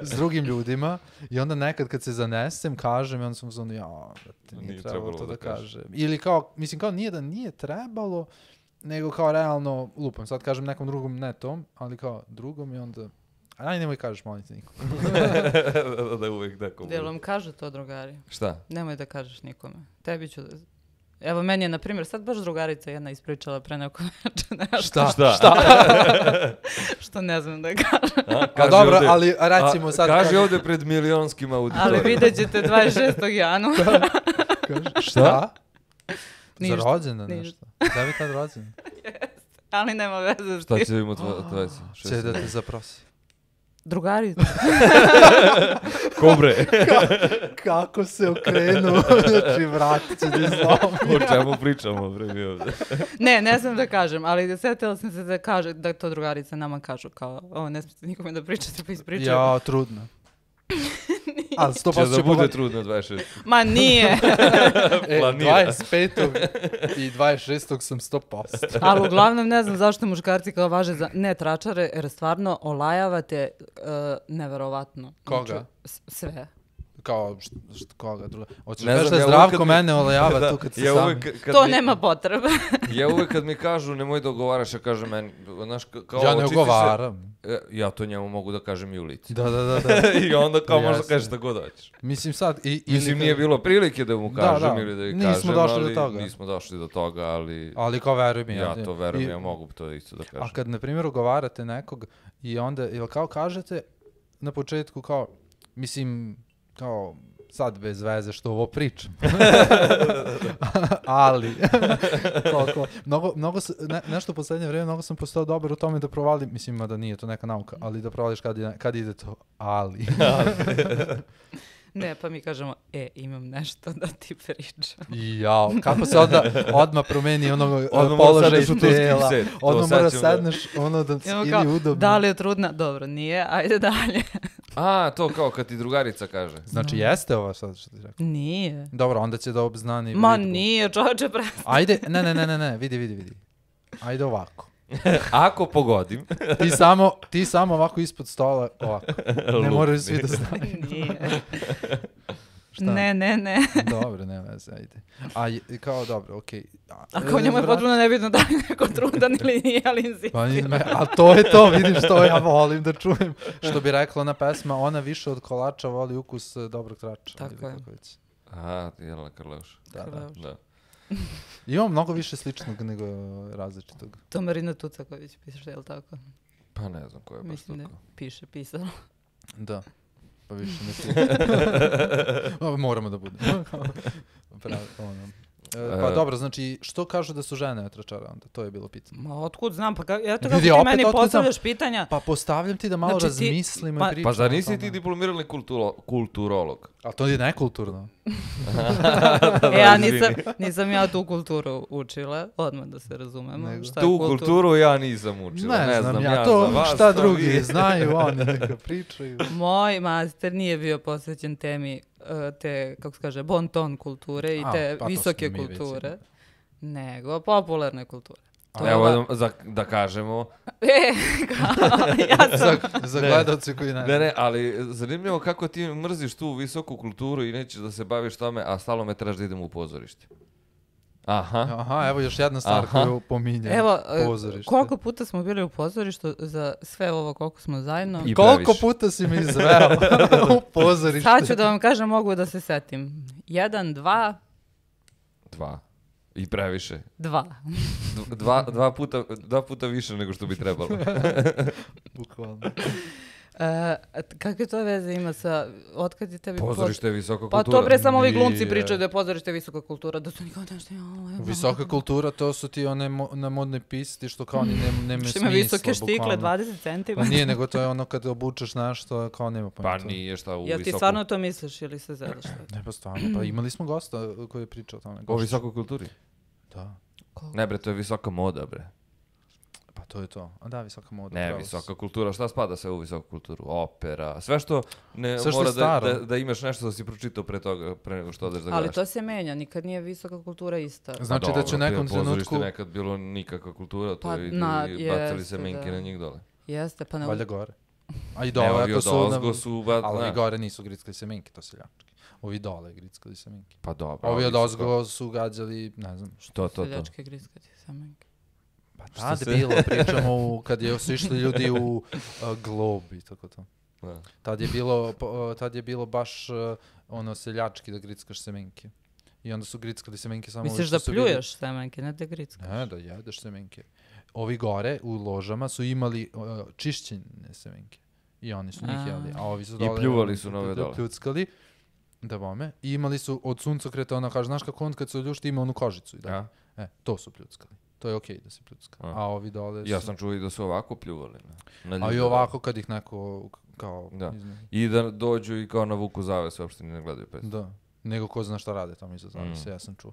s drugim ljudima i onda nekad kad se zanesem kažem i onda sam uzmano, ja, brate, nije, Nije trebalo trebalo to da, da kažeš. kažem. Ili kao, mislim kao nije da nije trebalo, nego kao realno, lupam, sad kažem nekom drugom, ne tom, ali kao drugom i onda, aj nemoj kažeš, molim te nikom. da, da uvijek tako Jel bude. vam kažu to, drugari? Šta? Nemoj da kažeš nikome. Tebi ću da... Evo, meni je, na primjer, sad baš drugarica jedna ispričala pre neko večer nešto. Šta? Šta? Šta? Što ne znam da kažem. A, A kaži dobro, ovde- ali recimo a, sad... Kaži ovde pred milionskim auditorijom. Ali vidjet ćete dvadeset šestog januara. Kaži, šta? Za Ništa, rođendan ništa. nešto. Da bi tad rođendan? Ali nema veze s Šta tim. će imati dvadeset šest? Će da te zaprosi. Drugarica. Kobre. Kako se okrenu, znači vratit će da izlomi. O čemu pričamo, bre, mi ovde? Ne, ne znam da kažem, ali sjetila sam se da kaže, da to drugarice nama kažu kao, ovo ne smijete nikome da pričate, pa ispričaju. Ja, trudno. Ali sto Će posto da će bude pogoditi. trudno dvadeset šest. Ma nije. E, planira. dvadeset petog i dvadeset šestog sam sto posto. Ali uglavnom ne znam zašto muškarci kao važe za ne tračare, jer stvarno olajavate uh, neverovatno. Koga? Znači, s- sve. Kao, št, št, koga druga? Hoćeš Ne da kažeš znam, da ja uvek Zdravko kad mi- mene olajava Da, tu kad se ja sami. uvek kad To mi- nema potrebe. Ja uvek kad mi kažu nemoj da ogovaraš, ja kažem meni, znaš, ka- kao Ja ne očisti se- ogovaram. E, Ja to njemu mogu da kažem i u lici. Da, da, da. da. I onda kao možda Jasno. kažeš šta god hoćeš. Mislim sad... I, ili Mislim, kad- nije bilo prilike da mu Da, kažem da. ili da ih Nismo kažem, došli do ali toga. nismo došli do toga, ali Ali kao veruj mi. ja to verujem, I- ja mogu to isto da kažem. A kad, na primjer, ugovarate nekog i onda, jel kao kažete na početku kao, mislim, kao, sad bez veze što ovo pričam. Ali, kao, kao, mnogo, mnogo, s- ne, nešto u poslednje vrijeme, mnogo sam postao dobar u tome da provalim, mislim, da nije to neka nauka, ali da provališ kad, je- kad ide to, ali. Ne, pa mi kažemo, e, imam nešto da ti pričam. Jao, kako se onda odmah promeni ono Odmah mora položaj sedneš u turski tela, set, to odmah sad mora ćemo da- sedneš ono da Imamo ili kao, udobno. da li je trudna? Dobro, nije, ajde dalje. A, to kao kad ti drugarica kaže. Znači, jeste ovo sad što ti rekao? Nije. Dobro, onda će da obznani Ma vidbu. nije, čovječe, pre... Ajde, ne, ne, ne, ne, ne, vidi, vidi, vidi. Ajde ovako. Ako pogodim, Ti samo, ti samo ovako ispod stola, ovako. Ne Lupni. moraju svi da znaju. Nije. Šta? Ne, ne, ne. Dobro, ne veze, ajde. A je- kao dobro, okej. A, A kao e, njemu je vrat- potpuno nebitno da li je neko trudan ili nije, ali Pa ni insistira. me, a to je to, vidiš, to ja volim da čujem. Što bi rekla ona pesma, ona više od kolača voli ukus e, dobrog trača. Tako ili je. kako već. aha, ti Jelena Karleuša. Da, da. Karleuša. Da. Imamo mnogo više sličnog nego različitog. To Marina Tucaković piše, je li tako? Pa ne znam ko je baš Mislim da tako. piše, pisala. Da. Pa više ne ti. Moramo da budemo. Pravi, ono. E, pa E. dobro, znači, što kažu da su žene tračara onda? To je bilo pitanje. Ma otkud znam, pa ka, eto kako Vidi, ti opet meni otkud postavljaš pitanja. Pa postavljam ti da malo Znači ti- razmislimo pa- i pričamo. Pa zar o nisi ti tome. diplomirali kulturo, kulturolog? A to je nekulturno. E, ja izvini. nisam, nisam ja tu kulturu učila, odmah da se razumemo. Nego. Šta je Tu kultura? kulturu ja nisam učila, Ne, ne, znam, znam, ja, ja to za vas, šta to drugi vi. znaju, oni neka pričaju. Moj master nije bio posvećen temi uh, te, kako se kaže, bon ton kulture i A, te pa to visoke smo mi već kulture, imali. nego popularne kulture. To je Evo ova- da, za, da kažemo, E, kao, ja sam... Za, za gledalce koji ne. ne, ne, ali zanimljivo kako ti mrziš tu visoku kulturu i nećeš da se baviš tome, a stalo me traži da idem u pozorište. Aha. Aha, evo još jedna stvar Aha. koju pominjem. Evo, e, Pozorište. koliko puta smo bili u pozorištu za sve ovo koliko smo zajedno. I Koliko previše. puta si mi izveo u pozorište? Sad ću da vam kažem, mogu da se setim. Jedan, dva, Dva. I previše. dva. D- Dva, dva, puta, dva puta više nego što bi trebalo. Bukvalno. E, kakve to veze ima sa, otkad je tebi... Pozorište je visoka Pa kultura. to bre, samo ovi glumci Nije. pričaju da je pozorište visoka kultura, da su nikada nešto... jao, evo. Visoka kultura, to su ti one mo na modne pisti što kao ni nema, nema Što smisla. ima visoke štikle, bukvalno. dvadeset Pa centimetara. nije, nego to je ono kad obučeš nešto, kao nema Pa pojma. nije šta u Jel ti visoku... stvarno to misliš ili se zezaš? Ne, pa stvarno, pa imali smo gosta koji je pričao o tome. O Gošća. visokoj kulturi? Da, Ne bre, to je visoka moda bre. pa to je to. A da, visoka moda. Ne, pravo si. visoka kultura, šta spada sve u visoku kulturu? Opera, sve što ne Sve što je mora da, staro. da, da imaš nešto da si pročitao pre toga, pre nego što odeš da Ali gledaš. to se menja, nikad nije visoka kultura ista. Znači Pa da će u dobro, nekom to je pozorište trenutku, nekad bilo nikakva kultura, to Pa, je na- i bacali jeste, se menke da. na njih dole. Jeste, pa ne... valjda gore. A i Ne, dole, ovi ako od su... ozgo su, ba, Ali ne. ovi gore nisu grickali semenke, to seljački. Ovi dole grickali semenke. Pa dobro. Ovi od su ozgo su gađali, ne znam, kao- To, to, to. Seljačke griskati samenke. pa Što tad se- bilo, pričamo u, kad je, su išli ljudi u uh, Glob i tako to. Da. Tad je bilo, po- uh, tad je bilo baš uh, ono seljački da grickaš semenke. I onda su grickali semenke samo... Misliš ovi da što su bili- pljuješ semenke, ne da grickaš? Ne, da jedeš semenke. Ovi gore u ložama su imali uh, čišćene semenke. I oni su njih A. jeli. A ovi su I dole... pljuvali su na ove da- dole. da pljuckali. Da bome. I imali su od suncokreta, ona kaže, znaš kako on kad se oljušti ima onu kožicu. I da. Ja? E, to su pljuckali. To je okej da se pljucka. A. A ovi dole su... Ja sam čuo i da su ovako pljuvali. Na, na A i ljude. ovako kad ih neko kao... Da. izne- I da dođu i kao na vuku zaves, uopšte ni ne gledaju pesmu. Da. Nego ko zna šta rade tamo iza zavese, Mm. ja sam čuo.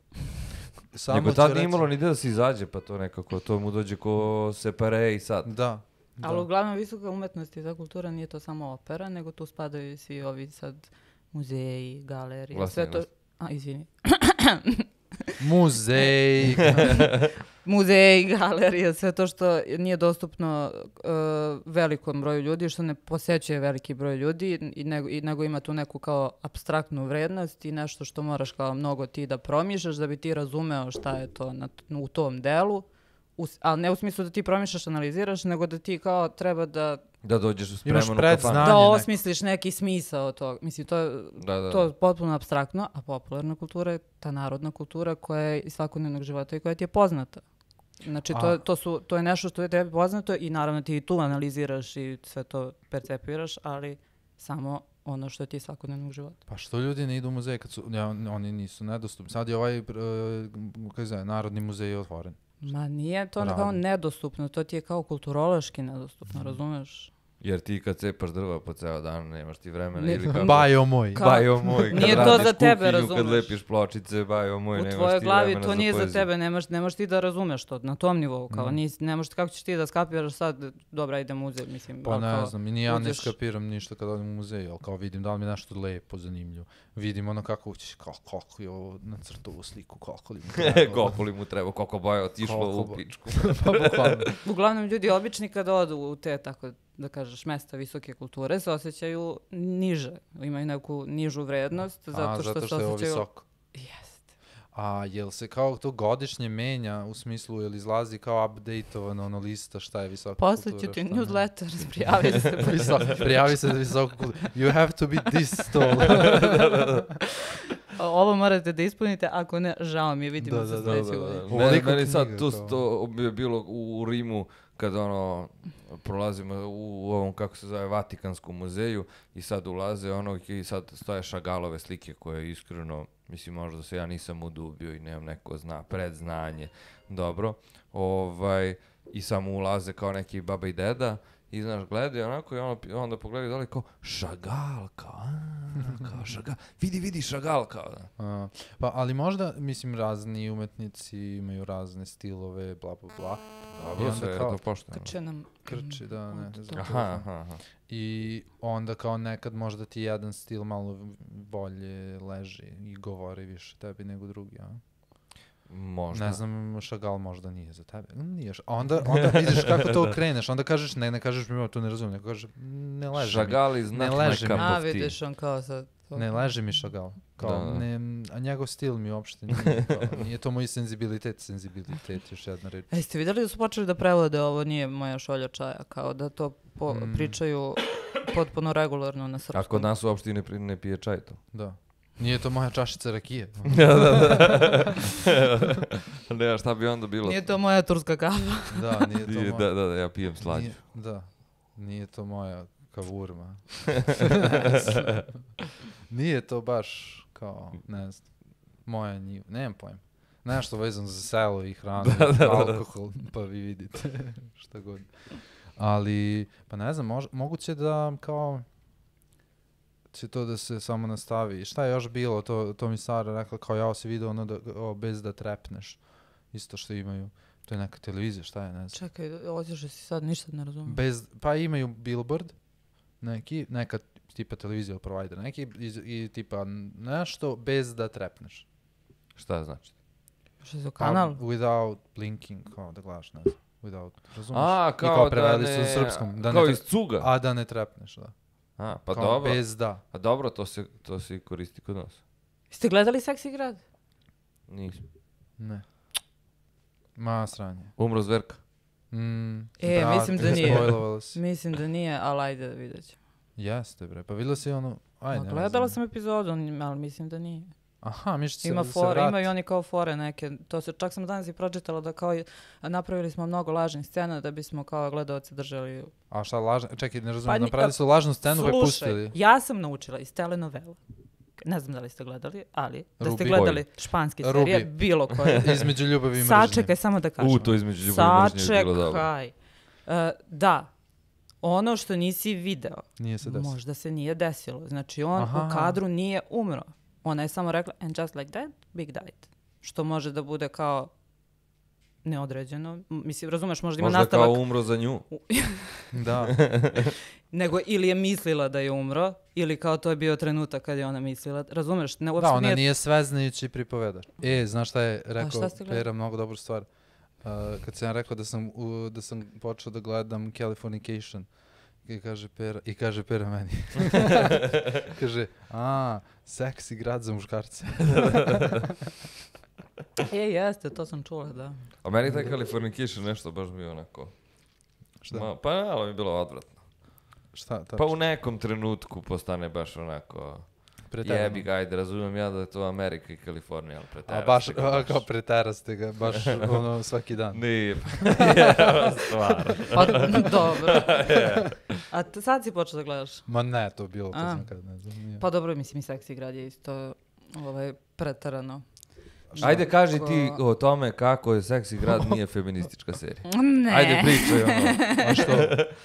Nego ću tad reći- nije imalo ni da se izađe, pa to nekako, to mu dođe ko separe i sad. Da. da. Ali uglavnom visoka umetnost i ta kultura nije to samo opera, nego tu spadaju i svi ovi sad muzeji, galerije, Glasni, sve to... glasni. A, izvini. Muzej. Muzeji, galerije, sve to što nije dostupno uh, velikom broju ljudi, što ne posećuje veliki broj ljudi, i nego, i nego ima tu neku kao apstraktnu vrednost i nešto što moraš kao mnogo ti da promišljaš da bi ti razumeo šta je to na, u tom delu, u, ali ne u smislu da ti promišljaš, analiziraš, nego da ti kao treba da, Da dođeš Imaš spreman u kafanu. predznanje. da neko. osmisliš neki smisao tog. Mislim, to je Da, da. to je potpuno apstraktno, a popularna kultura je ta narodna kultura koja je iz svakodnevnog života i koja ti je poznata. Znači, to, A- to, su, to je nešto što je tebi poznato i naravno ti i tu analiziraš i sve to percepiraš, ali samo ono što ti je iz svakodnevnog života. Pa što ljudi ne idu u muzej kad su, ja, oni nisu nedostupni. Sad je ovaj, uh, kako se zove, Narodni muzej otvoren. Ma nije to Radi. kao nedostupno, to ti je kao kulturološki nedostupno, razumeš? Jer ti kad cepaš drva po ceo dan, nemaš ti vremena. Ne- Ili kako... Bajo moj. Kao- Bajo moj, kad Nije to radiš za tebe, kuhinju, kad razumeš. lepiš pločice, bajo moj, U nemaš tvojoj ti glavi vremena to nije za poeziju. tebe, nemaš, nemaš ti da razumeš to na tom nivou, kao Mm. nis, ne možeš, kako ćeš ti da skapiraš sad, dobra, idem u muzej, mislim. Pa ali ne kao, znam, i ni ja ne uđeš- skapiram ništa kad odem u muzej, ali kao vidim da li mi je nešto lepo, zanimljivo. Vidim ono kako ući, kao, kako je ovo nacrtao ovu sliku, kako li mu treba. Koliko li mu treba, koliko bajo otišlo Koliko u bo- pičku. Pa bukvalno. Uglavnom ljudi obični kada odu u te, tako da kažeš, mesta visoke kulture se osjećaju niže, imaju neku nižu vrednost zato A, što, zato se što je ovo osjećaju... visoko. Jeste. A jel se kao to godišnje menja u smislu, jel izlazi kao updateovano ono lista šta je visoka Poslaću kultura? ti šta ne? newsletter, prijavi se. Visok- prijavi se za visoku kulturu. You have to be this tall. Ovo morate da ispunite, ako ne, žao mi je, vidimo Da, se da, da, sledeće Da, da, godine. da. Ovoliko Meni, meni sad knjiga to, kao- to je bilo u, u Rimu kad ono prolazimo u, u ovom kako se zove Vatikanskom muzeju i sad ulaze ono i sad stoje Šagalove slike koje iskreno mislim možda se ja nisam udubio i nemam neko zna predznanje dobro ovaj i samo ulaze kao neki baba i deda i znaš gledaju onako i ono, onda pogledaju dole kao Šagal kao, a, kao Šagal vidi vidi Šagal kao da. A, pa ali možda, mislim, razni umetnici imaju razne stilove, bla, bla, bla. I Dobro onda sve je kao- to pošteno. Krče nam... Krči, da, ne, ne znam. Aha, aha, aha. I onda kao nekad možda ti jedan stil malo bolje leži i govori više tebi nego drugi, a? Možda. Ne znam, Šagal možda nije za tebe. Mm, Nije. š- A onda, onda vidiš kako to okreneš, onda kažeš, ne, ne kažeš mi, "O, to ne razumijem, nego kažeš, "Mm, ne leži mi. Šagal is Ne not leži my mi. cup A, of tea. vidiš, on kao sad... to- Ne leži mi Šagal. Kao, Da, da. ne, a njegov stil mi uopšte nije, kao, nije to moj senzibilitet, senzibilitet, još jedna reč. A jeste vidjeli da su počeli da prevode ovo nije moja šolja čaja, kao da to po- Mm. pričaju potpuno regularno na srpskom. A kod nas uopšte ne, pri- ne pije čaj to. Da. Nije to moja čašica rakije. da, da, da. Ne, a šta bi onda bilo? Nije to moja turska kafa. Da, nije to Nije- moja... da, da, da, ja pijem slađu. Nije, da, nije to moja kavurma. Nije to baš kao, ne znam, moja njiva, nemam pojma. Nešto vezano za selo i hranu, alkohol, pa vi vidite šta god. Ali, pa ne znam, mož, moguće da kao će to da se samo nastavi. Šta je još bilo, to, to mi Sara rekla, kao ja si vidio ono da, o, bez da trepneš, isto što imaju. To je neka televizija, šta je, ne znam. Čekaj, otišao si sad, ništa ne razumijem. Bez, pa imaju billboard, neki, neka tipa televizija ili provider, neki i, i tipa nešto bez da trepneš. Šta znači? Što je za Pa, kanal? without blinking, kao da gledaš, ne znam, without, razumiješ? A, I kao, kao da preveli su ne... na srpskom, da kao ne iz cuga? a da ne trepneš, da. A, pa Kao dobro. bez da. A dobro, to se, to se i koristi kod nas. Ste gledali Seksi grad? Nisam. Ne. Ma, sranje. Umro zverka. Mm, E, brate, mislim da nije. spojlovala si. Mislim da nije, ali ajde da vidjet ćemo. Jeste, bre. Pa vidjela si ono... Ajde, Ma, ne gledala znam. sam epizodu, ali mislim da nije. Aha, miš se Ima se fore, vrati. imaju oni kao fore neke. To se, čak sam danas i pročitala da kao i- napravili smo mnogo lažnih scena da bismo kao gledaoci držali. A šta lažno? Čekaj, ne razumijem, Pa ni- napravili su lažnu scenu pa je Slušaj, pustili. ja sam naučila iz telenovela. Ne znam da li ste gledali, ali da ste Rubi. gledali španske Rubi. serije, bilo koje. Između ljubavi i mržnje. Sačekaj, samo da kažem. U, to između ljubavi i mržnje je bilo dobro. Sačekaj. E, da, ono što nisi video, Nije se desilo. možda se nije desilo. Znači, on Aha. u kadru nije umro. Ona je samo rekla, and just like that, big died. Što može da bude kao neodređeno. M- Mislim, razumeš, možda ima Možda nastavak. kao umro za nju. Da. Nego ili je mislila da je umro, ili kao to je bio trenutak kad je ona mislila. Razumeš? Ne, uopšte Da, ona nije... nije sveznajući pripovedač. E, znaš šta je rekao šta ste gledali? Pera, mnogo dobru stvar. Uh, kad sam ja rekao da sam, u, da sam počeo da gledam Californication, i kaže Pera, i kaže Pera meni. kaže, a, seksi grad za muškarce. E, jeste, to sam čula, da. A meni taj Californication nešto baš bio onako... Šta? Ma, pa malo mi je bilo odvratno. Šta? Pa u nekom trenutku postane baš onako... Preterano. Jebi ga, ajde, razumijem ja da je to Amerika i Kalifornija, ali A preteraste baš, ga a, kao preteraste ga, baš ono svaki dan. Nije, pa stvarno. Pa, dobro. A t- sad si počeo da gledaš? Ma ne, to je bilo, to A. sam kad ne znam. Nije. Pa dobro, mislim i seksi grad je isto ovaj, pretarano. Ajde, kaži ti Kako- o tome kako je Seksi grad nije feministička serija. Ne. Ajde, pričaj ono. A što?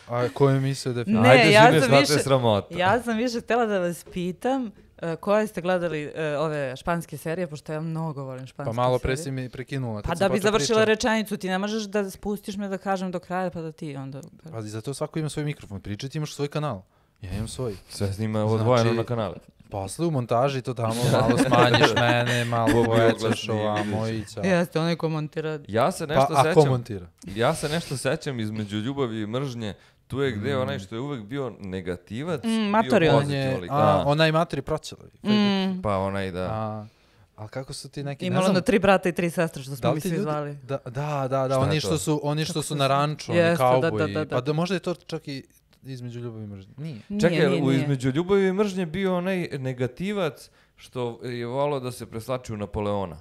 A ko je mislio da je film? Ne, Ajde, ja žine, sam šta te više- sramota. Ja sam više htjela da vas pitam uh, koje ste gledali uh, ove španske serije, pošto ja mnogo volim španske Pa malo serije. pre si mi prekinula. kad Pa sam da bi počeo završila pričam. rečenicu, ti ne možeš da spustiš me da kažem do kraja, pa da ti onda... Pa zato svako ima svoj mikrofon. Pričaj, ti imaš svoj kanal. Ja imam svoj. Sve snima odvojeno Znači- na kanale. Posle u montaži to tamo malo smanjiš mene, malo Ko bi povećaš oglasniji, ovamo vidiš. i ćao. Jeste, onaj ko montira... Ja se Pa nešto a ko sećam. montira? Ja se nešto sećam između ljubavi i mržnje. Tu je gde Mm. onaj što je uvek bio negativac, Mm, bio matori on On pozitivan je, lik. a, Da. onaj materi proćelovi. Mm, Pa onaj da. A, ali kako su ti neki, ne imalo znam, ono tri brata i tri sestre, što da smo li mi ti svi ljudi- zvali. Da, da, da, da, Šta je oni to? što su, oni što Kako su se na zove? ranču, oni Jeste, da, da, kauboji. da, da. Pa da možda je to čak i između ljubavi i mržnje. Nije. Čekaj, Nije, nije, u nije. između ljubavi i mržnje bio onaj negativac što je volao da se preslači u Napoleona.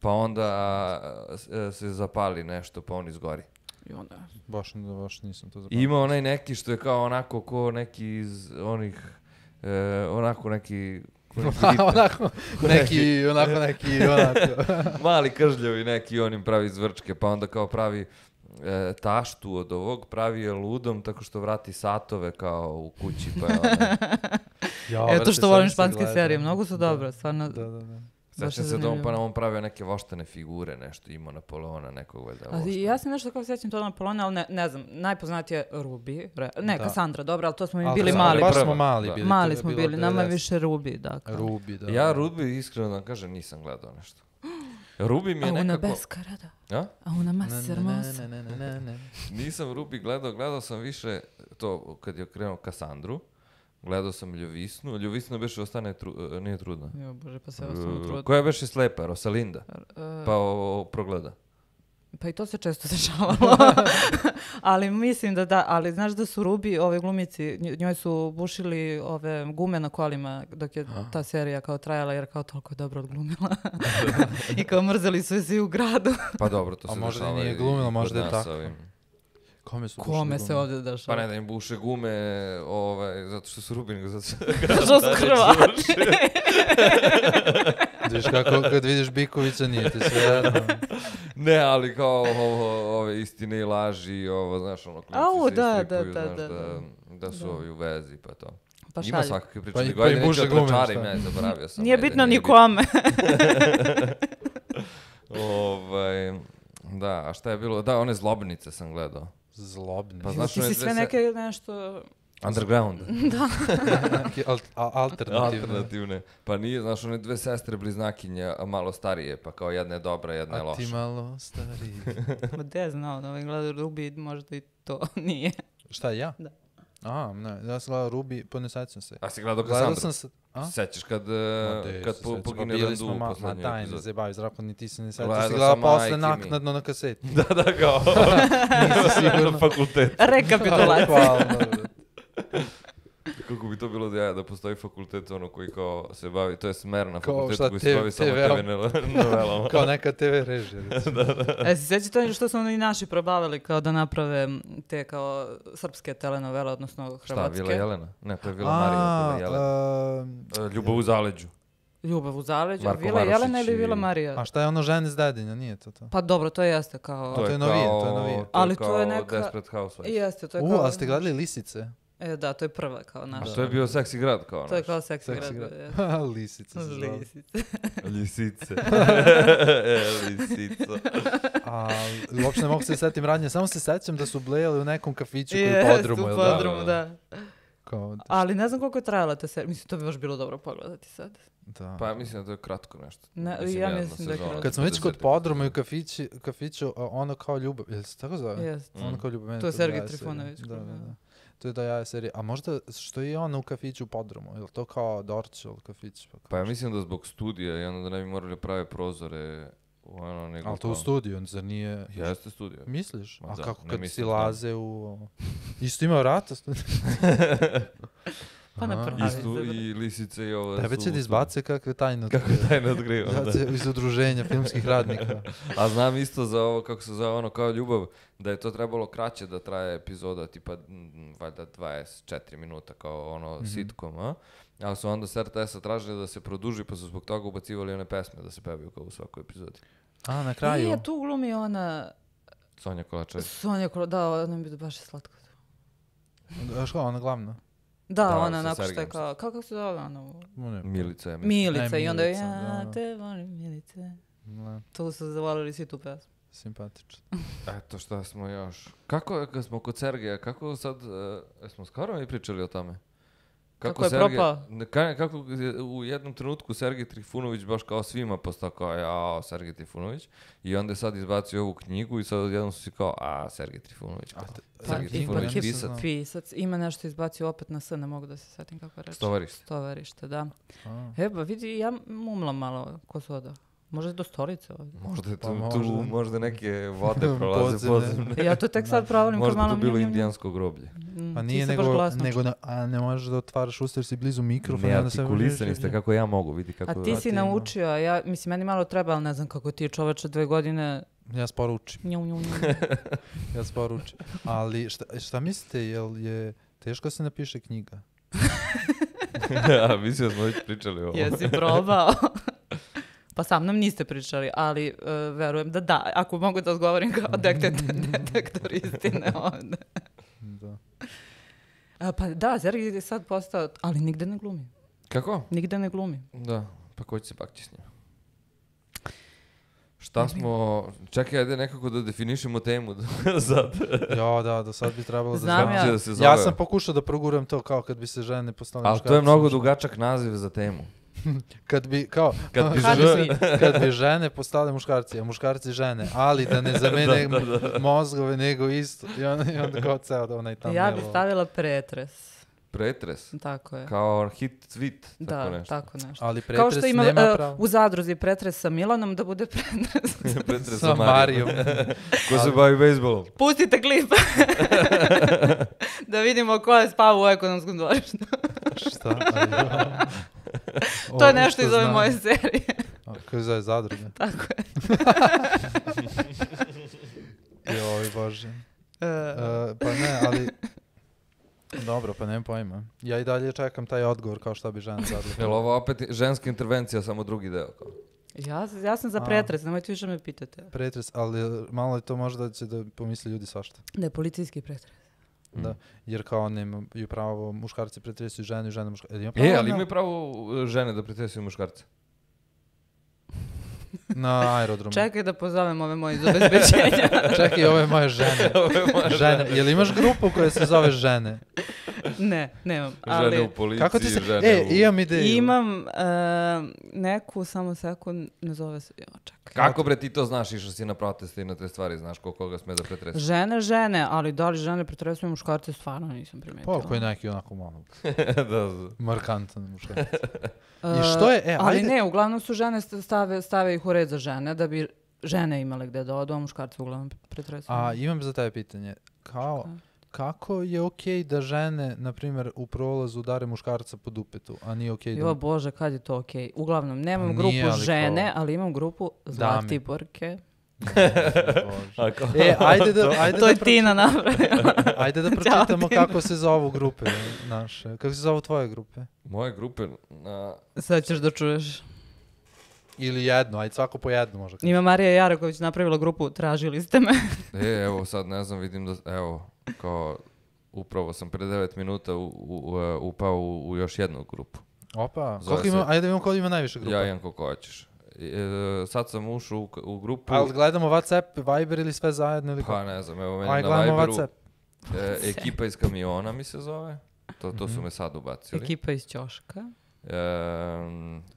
Pa onda a, s- a, se zapali nešto, pa on izgori. I onda... Baš, baš nisam to I zapamtio. ima onaj neki što je kao onako ko neki iz onih, e, onako neki... ko neki Ritter. onako, neki, onako, neki, onako. Mali kržljavi neki, on im pravi zvrčke, pa onda kao pravi e, taštu od ovog, pravi je ludom tako što vrati satove kao u kući, pa je onaj... Ja, Eto brate, što sad volim mi se španske gleda. serije, mnogo su Da, dobre, stvarno. Da, da, da. Baš Sećam je se da on, pa zanimljivo. on pravio neke voštane figure, nešto imao Napoleona, nekog valjda Ali voštana. ja se nešto kao sjećam to na Polona, ali ne, ne znam, najpoznatije je Ruby, re- ne, Da. Kassandra, dobro, ali to smo mi Ali bili Kassandra, mali. Baš Prva, smo mali da. bili. to Mali je smo bilo bili, nama je devedeset. više Ruby, da. kao. Rubi, da. Ja da. Ruby, iskreno da vam kažem, nisam gledao nešto. Ruby mi je A una nekako... beskarada, A? a una Ne, más ne, hermosa. ne, ne, ne, ne. Nisam Ruby gledao, gledao sam više to kad je krenuo Kassandru. Gledao sam Ljovisnu. Ljovisna beše ostane, tru, e, nije trudna. Jo, bože, pa se ostalo E, trud. Koja beše slepa, Rosalinda. E, Pa o, o, progleda. Pa i to se često dešavalo. Ali mislim da da, ali znaš da su Ruby, ove glumici, nj- njoj su bušili ove gume na kolima dok je ta serija kao trajala, jer kao toliko je dobro odglumila. I kao mrzeli su je svi u gradu. Pa dobro, to A se možda i dešava nije i glumila, kod možda je nas tako. ovim. Kome su Kome bušili se gume? ovdje dešava? Pa ne da im buše gume, ovaj, zato što su Ruby, nego zato što... Što su Hrvati? Vidiš kako kad vidiš Bikovića nije ti sve jedno. Ne, ali kao ovo, ove istine i laži, ovo, znaš, ono, klinci Au, se da, istrikuju, da, da, znaš, da, da, da su Da. ovi u vezi, pa to. Pa Ima šalje. svakakve priče. Pa i- nego pa i ajde, neću buše da gume, prečarim, šta? ne, zaboravio sam. Nije ajde, bitno nije ni kome. Ovaj, da, a šta je bilo? Da, one zlobnice sam gledao. Zlobne. Pa znaš, Ti one si dve sve se- neke nešto... Underground. Neki al- a- alternativne. Alternativne. Pa nije, znaš, one dve sestre bliznakinje, a malo starije, pa kao jedna je dobra, jedna je A ti loša. malo stariji. Ma de znao, da ovaj gleda Ruby, možda i to nije. Šta, ja? Da. A, ne, ja sam gledao Ruby, pa ne sećam se. A si gledao Gledao Kassandru? sam se... A? Sećaš kad, Ma e, de, kad se po, sećam, pogine pa bili Randu smo u ma- Ma poslednjoj daj, ne epizodi. zabavi, zdravko, ni ti se ne sećaš. Gledao Si gledao sam, posle majke mi. naknadno na kaseti. Da, da, kao. Nisi Na sigurno. fakultetu. Rekapitulacija. Hvala, dobro. Kako bi to bilo da ja da postoji fakultet ono koji kao se bavi, to je smer na Kao fakultetu šta, koji te- se bavi samo te ve- te ve novelama. Kao neka te ve režija. recimo. E, se sjećate što su oni naši probavili kao da naprave te kao srpske telenovele, odnosno Šta, hrvatske? Vila Jelena? Ne, to je Vila Marija, Vila Jelena. A, E, Ljubav u zaleđu. Ljubav u zaleđu, Marko Vila Marušić Jelena ili i- Vila Marija? a šta je ono žene s dedinja, nije to to? Pa dobro, to jeste kao... To je novije, to je kao- novije. To je Ali kao to je neka- Desperate Housewives. Jeste, to je U, kao... a ste gledali Lisice? E, da, to je prva kao A naša. to je bio seksi grad kao To je naš. kao seksi Seksi grad. grad. jeste. Lisice se zvali. Lisice. Lisice. E, Lisica. A uopšte ne mogu se setim radnje, samo se sećam da su blejali u nekom kafiću koji u Jest, podrumu, u jel da? podrumu, da. Kao, Ali ne znam koliko je trajala ta serija. Mislim, to bi baš bilo dobro pogledati sad. da. Pa ja mislim da to je kratko nešto. Ne, Mislim, ja jedna mislim da je sezona, kratko. Kad smo već kod pedeset podruma i u kafići, kafiću, a ono kao ljubav, jel se tako zove? Jest. Mm. Ono kao ljubav. meni To je do Sergej jaja serija. Trifunović, Da, da, da. da. To je do jaja serija. A možda što je ono u kafiću u podrumu? Je li to kao Dorčel kafić? Pa, Pa ja mislim da zbog studija i onda da ne bi morali prave prozore u ono nego ali to u kao- studiju, zar nije... Jeste studio. Misliš? Ma A da, kako ne kad mislim, si znam. laze u... Isto ima vrata studiju. Pa na Aha. prvi. I, Ali, stu, dobro. i lisice i ovo. Tebe su će u da izbace kakve tajne studiju. Kako taj ne otkrivam, Ja da. će iz udruženja filmskih radnika. A znam isto za ovo, kako se zove ono kao ljubav, da je to trebalo kraće da traje epizoda, tipa mm, valjda dvadeset četiri minuta kao ono Mhm. sitcom, a? Ali su onda s er te esa tražili da se produži, pa su zbog toga ubacivali one pesme da se pevaju kao u svakoj epizodi. A, na kraju? Nije, tu glumi ona... Sonja Kolačević. Sonja Kolo, da, ona mi je baš je slatko. A što, ona glavna? Da, Da, ona sa nakon što je Sergejem kao, kako se zove ona? Ne, Milica je, mislim. Milica Ne, i onda Milica, ja da, da. te volim Milice. ne, Tu su zavolili svi tu pesmu. simpatično. Eto šta smo još. Kako je, kad smo kod Sergeja, kako sad, uh, jesmo skoro mi pričali o tome? Kako je propao? ne, ka- kako je u jednom trenutku Sergej Trifunović baš kao svima postao kao, jao, Sergej Trifunović. I onda je sad izbacio ovu knjigu i sad odjednom su si kao, a, Sergej Trifunović. Kao, Pa, Sergej i- Trifunović i- pisac. Pisac. Ima nešto izbacio opet na S, ne mogu da se setim kako reći. Stovarište. Stovarište, da. A, E, ba vidi, ja mumlam malo ko su oda. Možda do stolice ovdje. Možda je tu, Pa tu možda. možda neke vode prolaze Podzemne. podzemne. Ja to tek sad pravolim kao Možda malo to bilo njum, njum, njum. indijansko groblje. Mm, Pa ti nije se baš nego, glasno nego čuješ. na, a ne možeš da otvaraš usta jer si blizu mikrofona. i onda se Neartikulisani ste kako ja mogu, vidi kako... A ti si ti, naučio, a ja, mislim, meni malo treba, ali ne znam kako ti čoveče dve godine... Ja sporo učim. Nju, nju, nju. Ja sporo učim. Ali šta, šta mislite, jel je teško se napiše knjiga? A, mislim da smo već pričali o ovo. Jesi probao? Pa sa mnom niste pričali, ali e, verujem da da. Ako mogu da odgovorim kao detektor, detektor istine ovde. Da. A, pa da, Sergej je sad postao, ali nigde ne glumi. Kako? Nigde ne glumi. Da, pa ko će se pakći s njim? Šta smo... Čekaj, ajde nekako da definišemo temu sad. Ja, da, do sad bi trebalo da Znam znam. ja. Će da se zove. Ja sam pokušao da proguram to kao kad bi se žene postale Ali muškarci. to je mnogo dugačak naziv za temu. Kad bi, kao, Kad bi Kad žene- bi- kad bi žene postale muškarci, a muškarci žene, ali da ne zamene mozgove nego isto. I onda, i onda kao ceo da onaj tam Ja bih stavila pretres. Pretres. Tako je. Kao hit tweet, tako Da, nešto. tako nešto. Ali Kao pretres što ima nema e, pravo. u zadruzi pretres sa Milanom, da bude pretres. Pretres Sa Marijom. Ko se bavi bejsbolom? Pustite klip. Da vidimo ko je spao u ekonomskom dvorištu. Šta? Aj, To je ovo nešto što iz ove znam. moje serije. A, Kako zove zadruge? Tako je. Joj, Bože. E, E, pa ne, ali... Dobro, pa nemam pojma. Ja i dalje čekam taj odgovor kao šta bi žena zadruge. Jel ovo opet ženska intervencija, samo drugi deo? Kao? ja, ja sam za A. pretres, nemojte više me pitate. Pretres, ali malo je to možda će da pomisli ljudi svašta. Da je policijski pretres. Da, jer kao nemaju pravo muškarci pretresuju žene i žene muškarci. E, ali imaju pravo uh, žene da pretresuju muškarce. Na aerodromu. Čekaj da pozovem ove moje iz obezbeđenja. Čekaj, ove moje žene. Ovo je moja Žene. Jel imaš grupu koja se zove žene? Ne, nemam. žene u Ali policiji, Kako ti se... žene E, u... imam ideju. imam e, neku, samo sekund, ne zove se, jo, čekaj. Kako bre ti to znaš, išao si na proteste i na te stvari, znaš ko koga sme da pretresu? Žene, žene, ali da li žene pretresuju muškarce, stvarno nisam primetila. Pa, koji neki onako malo da, da. markantan muškarac. E, I što je, e, ali ajde- ne, uglavnom su žene st- stave, stave ih u red za žene, da bi žene imale gde da odu, a muškarci uglavnom pretresuju. A imam za tebe pitanje. Kao, kako je okej da žene, na primjer, u prolazu udare muškarca po dupetu, a nije okej da... Jo Bože, kad je to okej? Uglavnom, nemam Pa grupu nije, ali žene, kao- ali imam grupu Zlatiborke. Bože. E, ajde da, ajde To da, je Tina napravila. ajde da Ćao, pročitamo Tina. kako se zovu grupe naše. Kako se zovu tvoje grupe? Moje grupe na... Sad ćeš da čuješ. Ili jedno, ajde svako po jednu možda. Ima Marija Jaraković napravila grupu Tražili ste me. E, evo sad ne znam, vidim da, evo, kao, upravo sam pre devet minuta u, u, u, upao u, u još jednu grupu. Opa, Zove koliko ima, se- ajde da imamo koliko ima najviše grupa. Ja imam koliko hoćeš. E, sad sam ušao u, u grupu, Ali gledamo WhatsApp, Viber ili sve zajedno ili pa kako? ne znam, evo meni Aj, na gledamo Viberu, WhatsApp. e, ekipa iz kamiona mi se zove, to, to su Mhm. me sad ubacili. Ekipa iz Ćoška. E,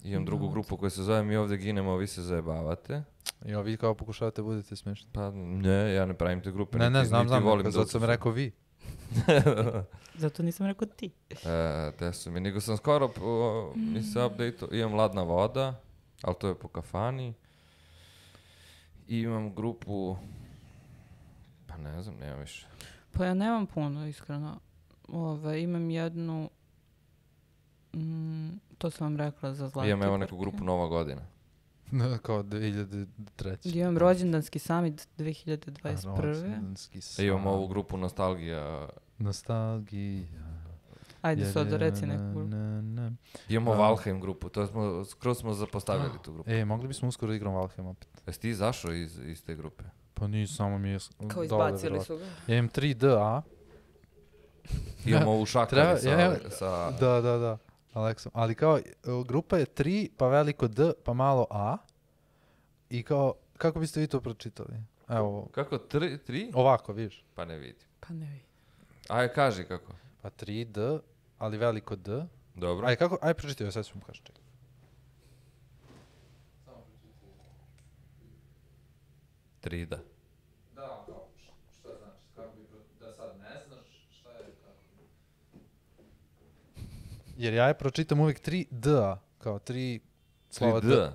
imam drugu grupu koja se zove Mi ovdje ginemo, a vi se zajebavate. Jo, vi kao pokušavate budete smiješni. Pa ne, ja ne pravim te grupe, Ne, niti, ne, znam, niti znam, volim zato da sam rekao vi. Zato nisam rekao ti. E, te su mi, nego sam skoro, po, mi se update, imam Ladna voda, ali to je po kafani. I imam grupu, pa ne znam, nemam više. Pa ja nemam puno, iskreno. Ove, imam jednu, mm, to sam vam rekla za Zlatiborke. Imam evo neku grupu Nova godina. Kao dvije hiljade treće. Imam rođendanski summit dve hiljade dvadeset prve. Rođendanski E, imam san. ovu grupu Nostalgija. Nostalgija. Ajde, je, sad je, reci na, neku grupu. na, na. Imamo A. Valheim grupu, to smo, skroz smo zapostavili tu grupu. E, mogli bismo uskoro igram Valheim opet. Jesi ti izašao iz, iz te grupe? Pa nisam, samo mi je s- Kao dole, izbacili verovatno. su ga. Ja imam tri D A. Imamo ovu šakali Treba- sa, ja- sa... Da, da, da. Aleksom. Ali kao, e, grupa je tri, pa veliko D, pa malo A. I kao, kako biste vi to pročitali? Evo, Kako, tri? tri? ovako, vidiš. Pa ne vidim. Pa ne vidim. Aj, kaži kako. Pa tri D, ali veliko D. Dobro. Aj, kako, aj pročitaj, sad ću mu kaži. čekaj. tri da. Da, kao, šta znači, kako bi, da sad ne znaš, šta je, kako Jer ja je pročitam uvijek tri D A, kao tri slova tri D. D.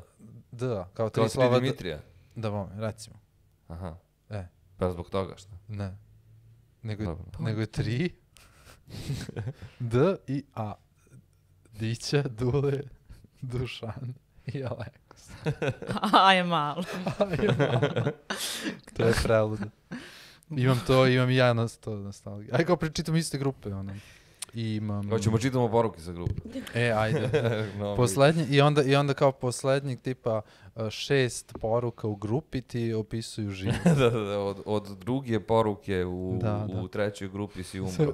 D A, kao tri Kao tri slova D. Dimitrija. Da, vam, recimo. Aha. E. Pa zbog toga šta? Ne. Nego, je- Dobro. nego je tri D i A. Dića, Dule, Dušan i Aleks. A je malo. To je preludo. Imam to, imam i ja na to nostalgiju. Aj kao pričitam iste grupe, ono. I imam... Hoćemo čitamo poruke sa grupe. E, ajde. No, Poslednji, i onda, i onda kao poslednjeg tipa uh, šest poruka u grupi ti opisuju život. da, da, da, od, od druge poruke u, Da, u da. trećoj grupi si umro.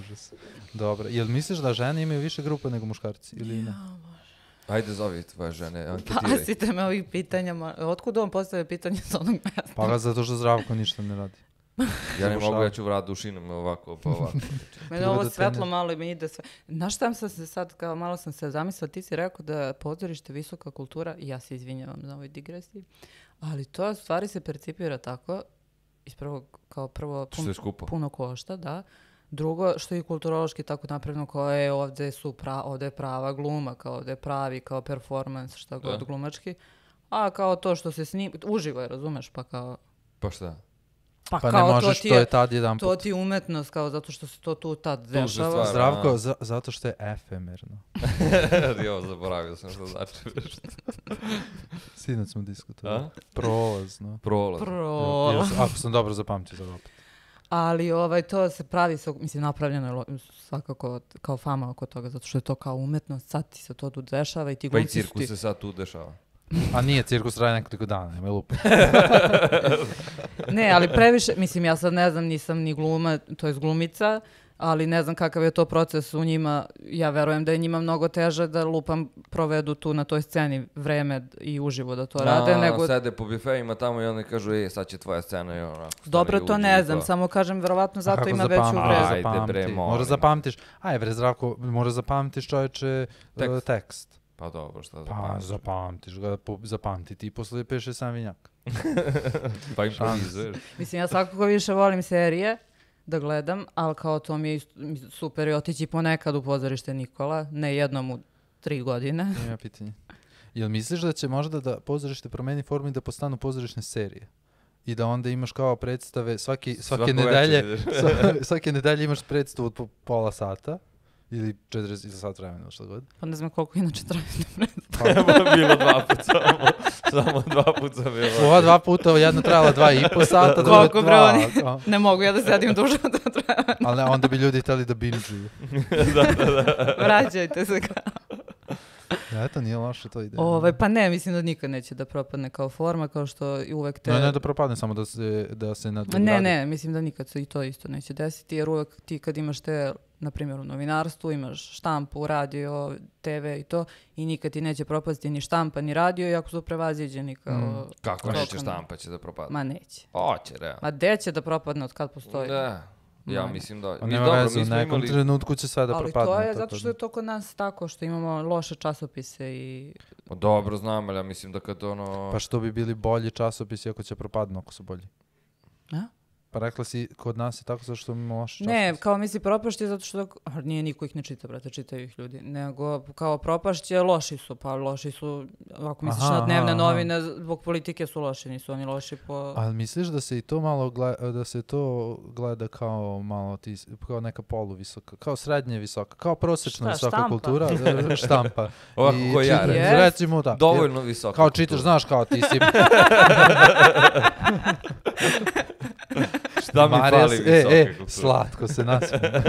Užas. Dobro. Jel misliš da žene imaju više grupa nego muškarci ili ne? Ajde, zovi tvoje žene, anketiraj. Pasite me ovih pitanja. ma- Otkud on postavlja pitanje s onog mesta? Pa ga zato što Zdravko ništa ne radi. Ja ne Zabušava. mogu, ja ću vrat dušinom ovako, pa ovako. Mene Treba ovo da svetlo tene- malo i mi ide sve. Znaš šta sam se sad, kao malo sam se zamislila, ti si rekao da pozorište visoka kultura, i ja se izvinjavam za ovoj digresiji, ali to u stvari se percipira tako, iz prvog, kao prvo Što je skupo. puno košta, da. Drugo, što je kulturološki tako napravljeno, koje je ovde su pra, ovde je prava gluma, kao ovde je pravi, kao performans, šta god Da. glumački. A kao to što se snima, uživo je, razumeš, pa kao... Pa šta? Pa, Pa ne kao možeš, to ti to je, je tad jedan to ti je umetnost, kao zato što se to tu tad se dešava. stvara. Zdravko, a. za- zato što je efemerno. Jo, zaboravio sam što znači. Sinoć smo diskutovali. A? Prolazno. Prolaz. Pro. Još, ako sam dobro zapamtio sad opet. Ali ovaj, to se pravi, sa, mislim, napravljeno je lo- svakako kao fama oko toga, zato što je to kao umetnost, sad ti se to tu dešava i ti Pa i glumci su cirkus ti... se sad tu dešava. A nije, cirkus traje nekoliko dana, nema lupa. Ne, ali previše, mislim, ja sad ne znam, nisam ni gluma, to je glumica, ali ne znam kakav je to proces u njima. Ja verujem da je njima mnogo teže da lupam provedu tu na toj sceni vreme i uživo da to rade, A, nego... sede po bifejima tamo i oni kažu, e, sad će tvoja scena i onako. stani Dobro, i to uđi ne u znam, to. samo kažem, verovatno zato kako ima veću zapamti? vrezu. Ajde, Zapamti. bre, molim. Mora zapamtiš. Aj, bre, Zdravko, mora zapamtiš čoveče tekst. Tekst. tekst. Pa dobro, šta Pa zapamtiš? zapamtiš ga, po, zapamti ti posle piše sam vinjak. Pa improvizuješ. Mislim, ja svakako više volim serije da gledam, ali kao to mi je ist- super i otići ponekad u pozorište Nikola, ne jednom u tri godine. Ima pitanje. Jel misliš da će možda da pozorište promeni formu i da postanu pozorišne serije? i da onda imaš kao predstave svaki, svake Svako nedelje, večer. sva- svake nedelje imaš predstavu od po pola sata ili četrdeset sat vremena ili šta god. Pa ne znam koliko inače traje. Bilo dva puta samo. Samo dva puta bilo. Ova dva puta, jedna trajala dva i po sata, druga Koliko, bre, dva. oni? kao. Ne mogu ja da sedim duže od to treba. Ali ne, onda bi ljudi htjeli da binge-uju. Vraćajte se kao. Ja, eto, nije loše to ide. Ovaj, pa ne, mislim da nikad neće da propadne kao forma, kao što i uvek te... Ne, ne da propadne, samo da se, da se nadogradi. Ne, ne, mislim da nikad se i to isto neće desiti, jer uvek ti kad imaš te, na primjer u novinarstvu, imaš štampu, radio, te ve i to, i nikad ti neće propasti ni štampa, ni radio, iako su prevaziđeni kao... Mm. Kako Tokom- neće štampa će da propadne? Ma neće. Hoće, realno. Ma gde će da propadne od kad postoji? Da. Ja Ma. mislim da... Pa Mi nema dobro, veze, mi u smo nekom imali... trenutku će sve da Ali propadne. to je tako zato što da- je to kod nas tako, što imamo loše časopise i... Pa dobro, znam, ali ja mislim da kad ono... Pa što bi bili bolji časopisi ako će propadnu ako su bolji? A? Pa rekla si, kod nas je tako zato što imamo loše Ne, časopise. kao misli propašće zato što, a nije niko ih ne čita, brate, čitaju ih ljudi, nego kao propašće loši su, pa loši su, ako misliš Aha, na dnevne aha, novine, zbog politike su loši, nisu oni loši po... Ali misliš da se i to malo gleda, da se to gleda kao malo ti, kao neka poluvisoka, kao srednje visoka, kao prosječna Šta, visoka štampa? kultura, da, štampa. Ovako I ko ja, čitaš, recimo. recimo da. Dovoljno visoko. Kao čitaš, znaš kao ti si... Šta mi Marija fali s- visoke e, e, kulture? slatko se nasmije.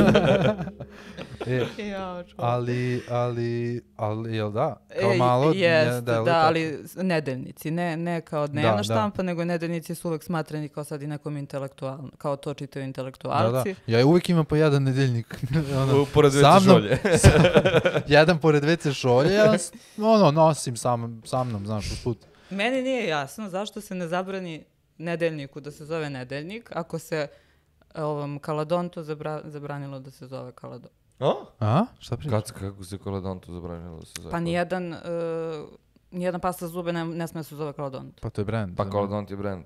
e, Ja, ali, ali, ali, jel da? Kao E, malo, jest, ne, deluje da, tako. ali s- nedeljnici, ne, ne kao dnevna Da, da. štampa, nego nedeljnici su uvek smatrani kao sad i nekom intelektualno, kao to čitaju Da, da. intelektualci. Ja uvijek imam po jedan nedeljnik. ono, U- Pored sa veće mnom- žolje. jedan pored ve ce šolje, jedan s- ono, nosim sam, sa mnom, znaš, usput. Meni nije jasno zašto se ne zabrani nedeljniku da se zove nedeljnik, ako se e, ovom Kaladontu zabra, zabranilo da se zove Kaladont. A? A? Šta pričaš? Kad, kako se Kaladontu zabranilo da se zove? Pa nijedan, e, nijedan pasta za zube ne, ne sme da se zove Kaladont. Pa to je brand. Pa Kaladont je brand.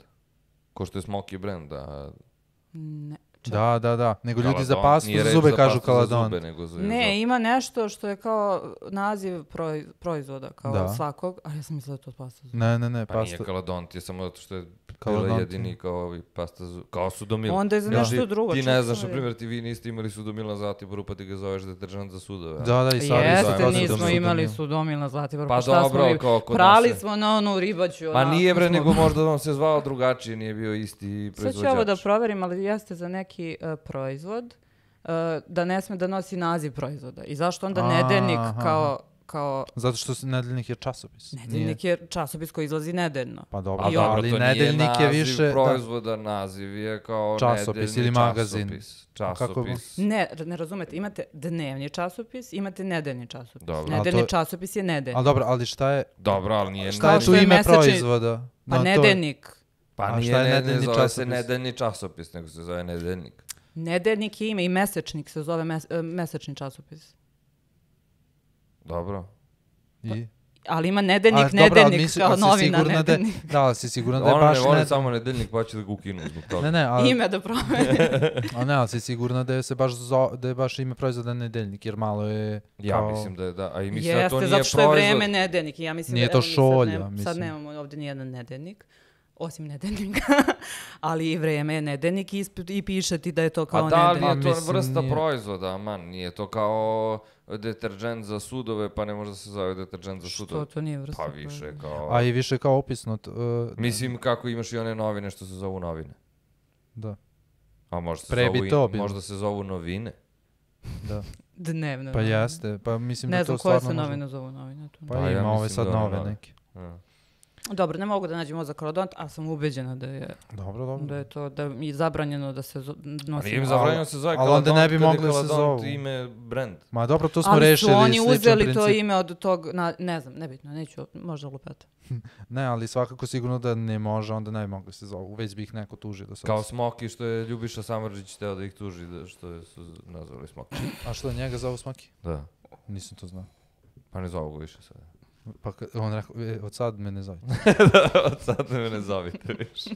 Ko što je Smoky brand, a... Ne. čak- Da, da, da. Nego ljudi za Kaladon- pastu nije za reč zube za kažu pastu za kaladon. zube, nego za- za- Ne, ima nešto što je kao naziv proi- proizvoda, kao Da. svakog, a ja sam mislila da je to pasta za zube. Ne, ne, ne, Pa pasta. nije Kaladont, je samo zato što je bila Kaladont, jedini kao ovi pasta za... Kao Sudomil. Onda je za Znaš, nešto ti- drugo. Ti čak ne sam znaš, na vidjela. primjer, ti vi niste imali Sudomil na Zlatiboru, pa ti ga zoveš deteržant za sudove. a? Da, da, i sad Jeste, zovemo nismo Sudomil. imali Sudomil na Zlatiboru. Pa šta dobro, smo im- kao kod Prali nas je. smo na onu ribaću. Pa onako nije bre, smo- nego možda vam se zvao drugačije, nije bio isti Sad proizvođač. ću ovo da proverim, ali jeste za neki e, proizvod e, da ne sme da nosi naziv proizvoda. I zašto onda A, nedeljnik aha. kao, kao Zato što se nedeljnik je časopis. Nije- nedeljnik je časopis koji izlazi nedeljno. Pa dobro, A da, dobro, ali to nedeljnik nije je naziv više... da. proizvoda, naziv je kao Časopis nedeljni ili magazin. časopis. Kako je Časopis. Ne, ne razumete, imate dnevni časopis, imate nedeljni časopis. Dobro. A Nedeljni to- časopis je nedeljni. Ali dobro, ali šta je, Dobro, ali nije... šta Kao je što tu je ime mesečni- proizvoda? Pa No, to- nedeljnik. Pa A nije šta je ne, ne nedeljni zove se časopis? nedeljni časopis, nego se zove nedeljnik. Nedeljnik je ime i mesečnik se zove mes- e, mesečni časopis. Dobro. I? Ali ima nedeljnik, A, dobro, ali nedeljnik misli- kao ali si novina, sigurna da je- nedeljnik. Da, ali si sigurno da je Ona baš ne voli ne... samo nedeljnik, pa će da ga ukinu zbog toga. Ne, ne, ali, Ime da promeni. a ne, ali si sigurna da je se baš zo, da je baš ime proizvoda nedeljnik, jer malo je Ja kao... mislim da je da, a i mislim da Jeste, to nije zato što je proizvod. vreme nedeljnik. Ja mislim Nije da, to evo, mi sad šolja, nem- mislim. Sad nemamo ovdje nijedan nedeljnik, osim nedeljnika, ali i vreme je nedeljnik i, isp- i piše ti da je to Pa kao da, ali nedeljnik. je to Mislim, vrsta nije. proizvoda, man, nije to kao deterđent za sudove, pa ne može da se zove deterđent za Što sudove. to nije vrsta Pa više proizvoda? kao... A i više kao opisno. t- uh, Mislim kako imaš i one novine što se zovu novine. Da, A možda se, Pre bi zovu, i- to bilo. možda se zovu novine. da. Dnevno. Pa novine. jeste, pa mislim Ne da znam to koje stvarno se može- novine zovu novine. To. Pa, Pa ja ima ove mislim sad da ono nove nove. neke. Ja. Dobro, ne mogu da nađem ovo za Kaladont, a sam ubeđena da je, Dobro, dobro. da je to da je zabranjeno da se zo- A nosi. nije im zabranjeno da se zove ali onda Kaladont, ne bi kad je mogli da se Kaladont zovu. ime brand. Ma dobro, to smo Ali rešili su oni sličan uzeli to princip. ime od tog, na, ne znam, nebitno, neću, možda lupeta. Ne, ali svakako sigurno da ne može, onda ne bi mogli se zovu. Već bi ih neko tužio da se... Kao Smoky što je Ljubiša Samardžić teo da ih tuži da što je su nazvali Smoky. A što, njega zovu Smaki? Da. Nisam to znao. Pa ne zovu ga više sada. Pa ka- on rekao, e, od sad me ne zove. Od sad me ne zovite više.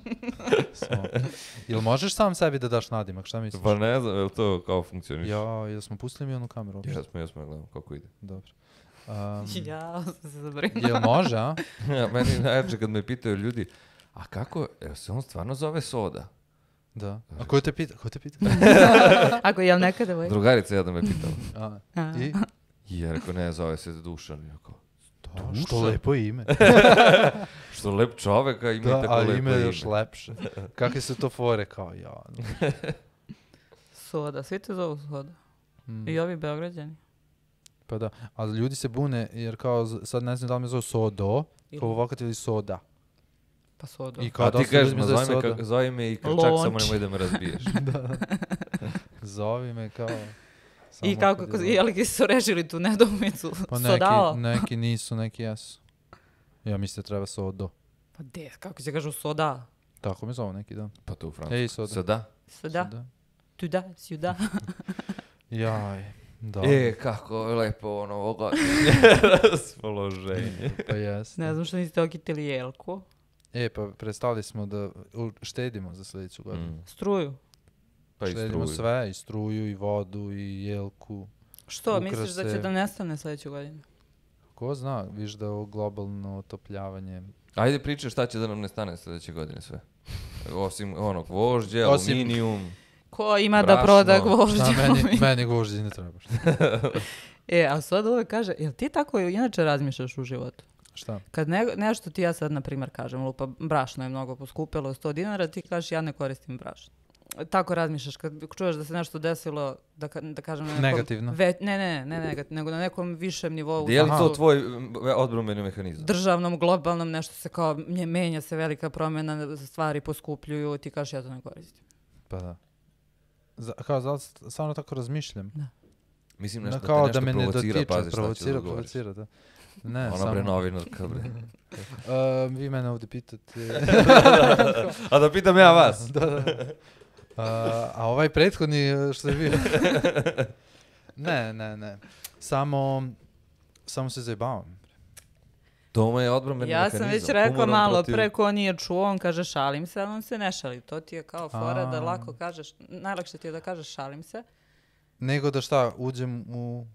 Smaki. Jel možeš sam sebi da daš nadimak, šta misliš? Pa ne znam, je li to kao funkcioniš? Ja, jel smo pustili mi onu kameru uopšte? Jesmo, jesmo, gledamo kako ide. Dobro. Um, Ja sam se zabrinula. jel može, a? Ja, meni najjače kad me pitaju ljudi, A kako, evo se on stvarno zove Soda? Da. A ko te pita? Ko te pita? Ako jel neka devojka? Drugarica jedna me pitala. A, A. I? I ja rekao, ne, zove se Dušan. Ja kao, Da, što lepo ime. što lep čovek, a ima Da, tako ali lepo ime ime. je još lepše. Kakve su to fore kao ja. Soda, svi te zovu Soda. Mm. I ovi Beograđani. Pa da, ali ljudi se bune jer kao z- sad ne znam da li me zove Sodo, Ili- kao vokat ili Soda. Pa Soda. I kao A ti dosta kažeš, ljudi me ma zove zove me, Soda. ka, zove me i krčak, Lonč. samo nemoj da me razbiješ. Zovi me kao... I samo kako, kad je- je li su rešili tu nedoumicu? Pa Sodao? neki, neki nisu, neki jesu. Ja mislim da treba Sodo. Pa de, kako se kažu soda? Tako me zove neki dan. Pa to u Francusku. Ej, Soda. Sada? Soda? Soda. Tu da, sjuda. Jaj, da. E, kako je lepo ono ovoga raspoloženje. Pa jeste. Ne znam što niste okitili jelku. E, pa prestali smo da u- štedimo za sljedeću godinu. Mm. Struju. Pa i Štedimo struju. sve, i struju, i vodu, i jelku. Što, misliš da će Ukrase. da nestane sljedeću godinu? Ko zna, viš da je ovo globalno otopljavanje. Ajde pričaj šta će da nam ne stane sljedeće godine sve. Osim onog vožđe, Osim- aluminijum. Ko ima da Brašno. proda gvožđe? Šta meni, meni gvožđe ne treba. Šta? E, a sad uvek kaže, jel ti tako inače razmišljaš u životu? Šta? Kad ne, nešto ti ja sad, na primjer, kažem, lupa, brašno je mnogo poskupilo, sto dinara, ti kažeš ja ne koristim brašno. Tako razmišljaš kad čuješ da se nešto desilo, da, ka- da kažem na nekom... Negativno. Ve, ne, ne, ne, negativno, nego na nekom višem nivou. Je li u to tvoj m, odbrambeni mehanizam? državnom, globalnom, nešto se kao, mje- menja se velika promjena, stvari poskupljuju, ti kažeš ja to ne koristim. Pa da. Za, kao, zato stvarno tako razmišljam. Mislim Da, nešto kao da te da me nešto ne provocira, dotiče, pazi šta ću da provocira, odgovoriš. provocira, da. Ne, Ona samo... bre novinarka bre. Uh, vi mene ovdje pitate... A da pitam ja vas. da, da. Uh, a ovaj prethodni uh, što je bio... ne, ne, ne. Samo... Samo se zajebavam. To mu je odbrambeni Ja mehanizam. sam već rekla humorom malo protiv- pre, ko nije čuo, on kaže šalim se, ali on se ne šali. To ti je kao fora da A. lako kažeš, najlakše ti je da kažeš šalim se. Nego da šta, uđem u...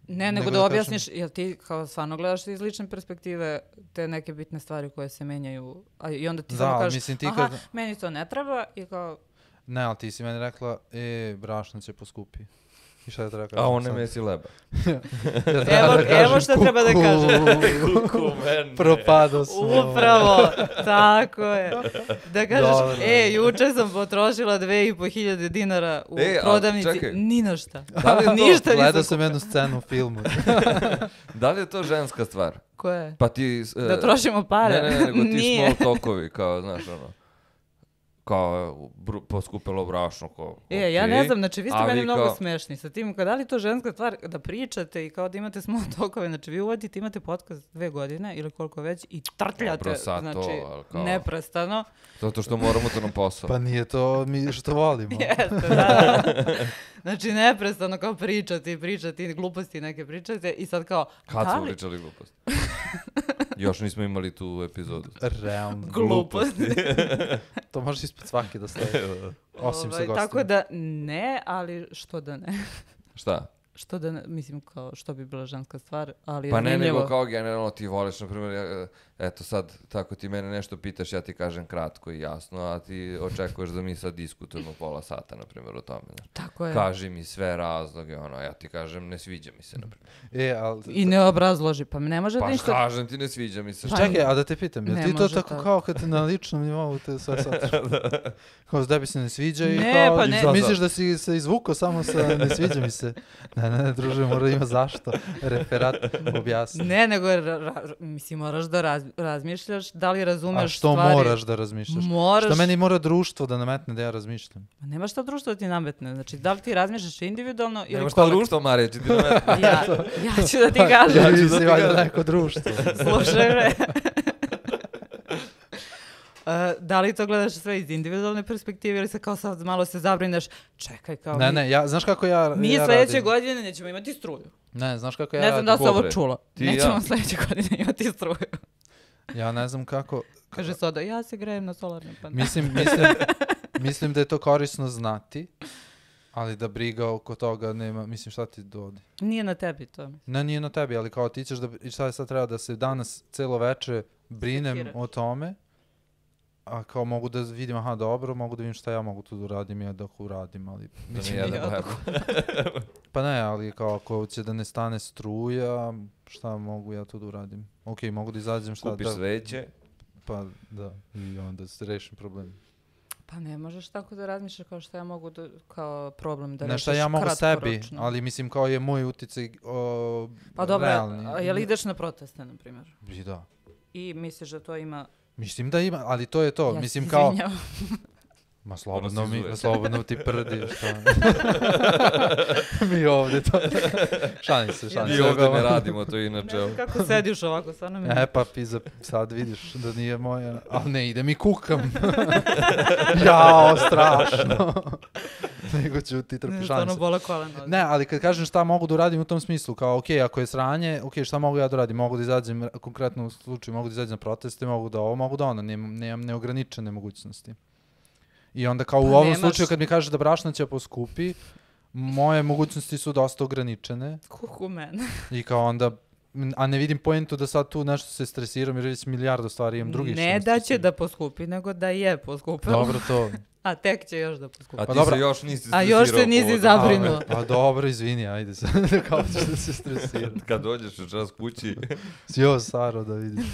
Ne, nego, Nego da, da objasniš, jel ti kao stvarno gledaš iz lične perspektive te neke bitne stvari koje se menjaju, a i onda ti Da, samo ali kažeš, mislim ti aha, kad- meni to ne treba i kao, Ne, ali ti si meni rekla, e, brašno će poskupi. I šta da treba kažem A on ne sad? mesi leba. Ja treba Evo- da kažem, evo šta treba da kuku, Kuku mene. Propado smo. upravo, tako je. Da kažeš, Dobro. e, juče sam potrošila dve i po hiljade dinara u E, a prodavnici, čekaj. ni na šta. Da li je to- Ništa Gledao nisam sam jednu scenu u filmu. Da li je to ženska stvar? Ko je? Pa ti... s- Da e, trošimo pare? Ne, ne, ne, nego ti Nije. small talkovi, kao, znaš, ono, kao, br- poskupilo brašno, kao, E, ja okej, ne znam, znači vi ste a meni vi mnogo kao- smešni sa tim, da li je to ženska stvar da pričate i kao da imate small talkove, znači vi uvodite, imate podcast dve godine ili koliko već i trtljate, Dobro, sad to, znači ali kao- neprestano. Zato što moramo to na posao. Pa nije to mi što volimo. Jeste, da. Znači neprestano kao pričati i pričati, gluposti neke pričate i sad kao, Kad da smo li- pričali glupost? Još nismo imali tu epizodu. Realno. Gluposti. To može ispod svake da stoji. Osim sa Ovaj, gostima. tako da ne, ali što da ne. Šta? Što da ne, mislim kao što bi bila ženska stvar, ali je Pa ne, zanimljivo. nego kao generalno ti voliš, na primjer, ja, eto sad, tako ti mene nešto pitaš, ja ti kažem kratko i jasno, a ti očekuješ da mi sad diskutujemo pola sata, na primjer, o tome. Znaš. Tako je. Kaži mi sve razloge, ono, ja ti kažem, ne sviđa mi se, na primjer. E, ali... I ne obrazloži, pa ne može Pa ništa... kažem ti, ne sviđa mi se. Pa- Čekaj, a da te pitam, jel Ne ti to može tako tako. kao kad na ličnom nivou te sve sad... Kao da bi se ne sviđa i Ne, kao... pa ne. Misliš da si se izvukao samo sa ne sviđa mi se? Ne, ne, ne, druže, mora ima zašto. Referat objasni. Ne, nego ra- ra- mislim, moraš da raz- razmišljaš, da li razumeš A što stvari. moraš da razmišljaš? Moraš. Što meni mora društvo da nametne da ja razmišljam? Ma nema šta društvo da ti nametne. Znači, da li ti razmišljaš individualno ili Nemo šta kolektivno? društvo, Marija, će ti nametiti. Ja, ja ću da ti kažem. Ja ću ću da si ti valjda kažem. neko društvo. Slušaj, bre. Uh, da li to gledaš sve iz individualne perspektive ili se kao sad malo se zabrineš, čekaj kao Ne, mi, ne, ja, znaš kako ja, mi ja sljedeće radim? godine nećemo imati struju. Ne, znaš kako ja ne znam da radim? se ovo Dobre. čulo. Ti i Nećemo ja. sljedeće godine imati struju. Ja ne znam kako... Kaže Soda, ja se grejem na solarne panele. Mislim, mislim, mislim da je to korisno znati, ali da briga oko toga nema, mislim šta ti dodi. Nije na tebi to. Ne, nije na tebi, ali kao ti ćeš da, i šta je sad treba da se danas celo veče brinem Sekiraš. o tome, a kao mogu da vidim, aha, dobro, mogu da vidim šta ja mogu tu da uradim i dok uradim, ali... Da mislim, mi jedan ja hleb. pa ne, ali kao ako će da ne stane struja, šta mogu ja tu da uradim? Ok, mogu da izađem šta Kupiš da... sveće. Pa da, i onda se rešim problem. Pa ne možeš tako da razmišljaš kao što ja mogu da, kao problem da Ne rešiš šta ja mogu sebi, kratkoročno. ali mislim kao je moj uticaj o, Pa dobro, realni. a jel ideš na proteste, na primjer? I da. I misliš da to ima... Mislim da ima, ali to je to. Ja mislim se kao... izvinjavam. Ma slobodno mi, izuje. slobodno ti prdi, šta? Mi ovdje to... Šalim se, šalim Mi se. ovdje ne radimo to inače. Ne znam kako sediš ovako, stvarno mi... E pa pizza, sad vidiš da nije moja, ali ne idem i kukam. Jao, strašno. Nego ću ti Ne, trpi, šalim stvarno se. bola kolena. Ne, ali kad kažem šta mogu da uradim u tom smislu, kao ok, ako je sranje, ok, šta mogu ja da uradim? Mogu da izađem, r- konkretno u slučaju, mogu da izađem na proteste, mogu da ovo, mogu da ono, nemam, nemam neograničene mogućnosti. I onda kao u Pa ovom nemaš- slučaju kad mi kaže da brašno će poskupi, moje mogućnosti su dosta ograničene Kuku mene. i kao onda, m, a ne vidim poentu da sad tu nešto se stresiram jer već milijardu stvari imam drugih. Ne što me da će stresiraju. da poskupi, nego da je poskupilo. Dobro to. A tek će još da poskupi. A Pa ti dobro. se još nisi A još se stresirao nisi povodom- zabrinuo. A, a dobro, izvini, ajde se. Kao ćeš da se stresiram. Kad dođeš u čas kući, Jo, Saro, da vidiš.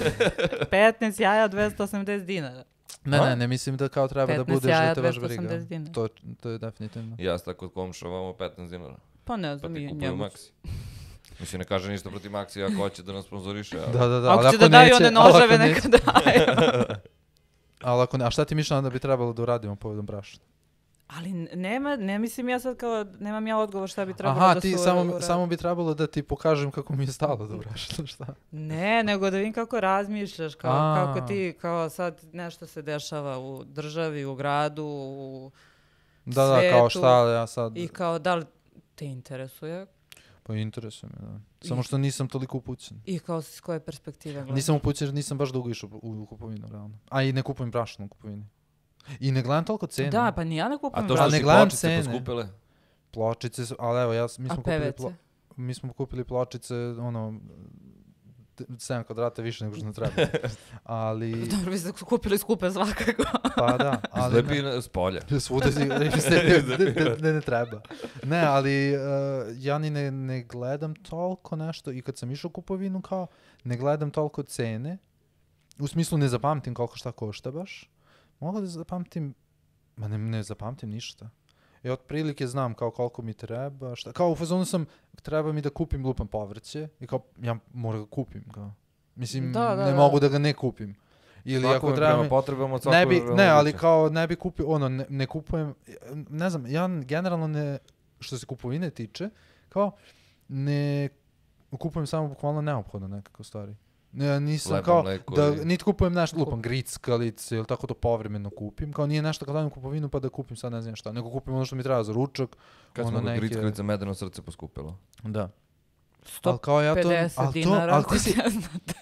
petnaest jaja, dvesta osamdeset dinara. Ne, A? ne, ne mislim da kao treba da petnaest budeš jaja, da te baš dvesta briga. osamdeset dinara. To, to je definitivno. ja sam tako kod komša vamo petnaest dinara. Pa ne Pa znam, ti i kupuju njemu. Maxi. Mislim, ne kaže ništa protiv Maxi ako hoće da nas sponzoriše. ali- Da, da, da. ali Ako će da daju neće- one ali ako noževe, neće- neka daje. Ali ako ne, a šta ti mišljamo da bi trebalo da uradimo povodom brašna? Ali n- nema, ne mislim ja sad kao, nemam ja odgovor šta bi trebalo Aha, da ti su samo, uradi. samo bi trebalo da ti pokažem kako mi je stalo do brašna, šta? Ne, nego da vidim kako razmišljaš, kao, A. kako ti, kao sad nešto se dešava u državi, u gradu, u, Da, da, kao Svetu šta, ja sad... i kao da li te interesuje Pa interesuje me, da. Samo što nisam toliko upućen. i kao s koje perspektive gledaš. Nisam upućen jer nisam baš dugo išao u, u kupovinu, realno. A i ne kupujem brašno u kupovini. I ne gledam toliko cene. Da, pa ni ja ne A kupujem to Ali što ne si gledam pločice cene. poskupile? Pločice su, ali evo, ja, s- mi A smo kupili, P V C? plo, mi smo kupili pločice, ono, t- sedam kvadrata više nego što nam treba. Ali, Dobro, vi ste kupili skupe svakako. pa da, ali... Slepi na- s polja. Svuda si, ne, ne, ne, ne treba. Ne, ali uh, ja ni ne, ne gledam toliko nešto i kad sam išao u kupovinu kao, ne gledam toliko cene, u smislu ne zapamtim koliko šta košta baš, mogu da zapamtim, ma ne, ne zapamtim ništa. I otprilike znam kao koliko mi treba, šta, kao u fazonu sam, treba mi da kupim lupan povrće i kao, ja moram ga kupim, kao. Mislim, Da, da, ne da. mogu da ga ne kupim. Ili Svako ako je treba prema mi- potrebama od ne svakog bi, je ne, ali moguće. kao ne bi kupio, ono, ne, ne kupujem, ne znam, ja generalno ne, što se kupovine tiče, kao, ne kupujem samo bukvalno neophodno nekako stvari. Ne, nisam Hleba, kao, mleko da, i- niti kupujem nešto, lupam grickalice ili tako to povremeno kupim, kao nije nešto kad dajem kupovinu pa da kupim sad ne znam šta, nego kupim ono što mi treba za ručak, Kad ono smo neke- kod grickalica medeno srce poskupilo. da. sto Ali kao ja to, pedeset ali to, dinara, ali ako ti si, ne znate.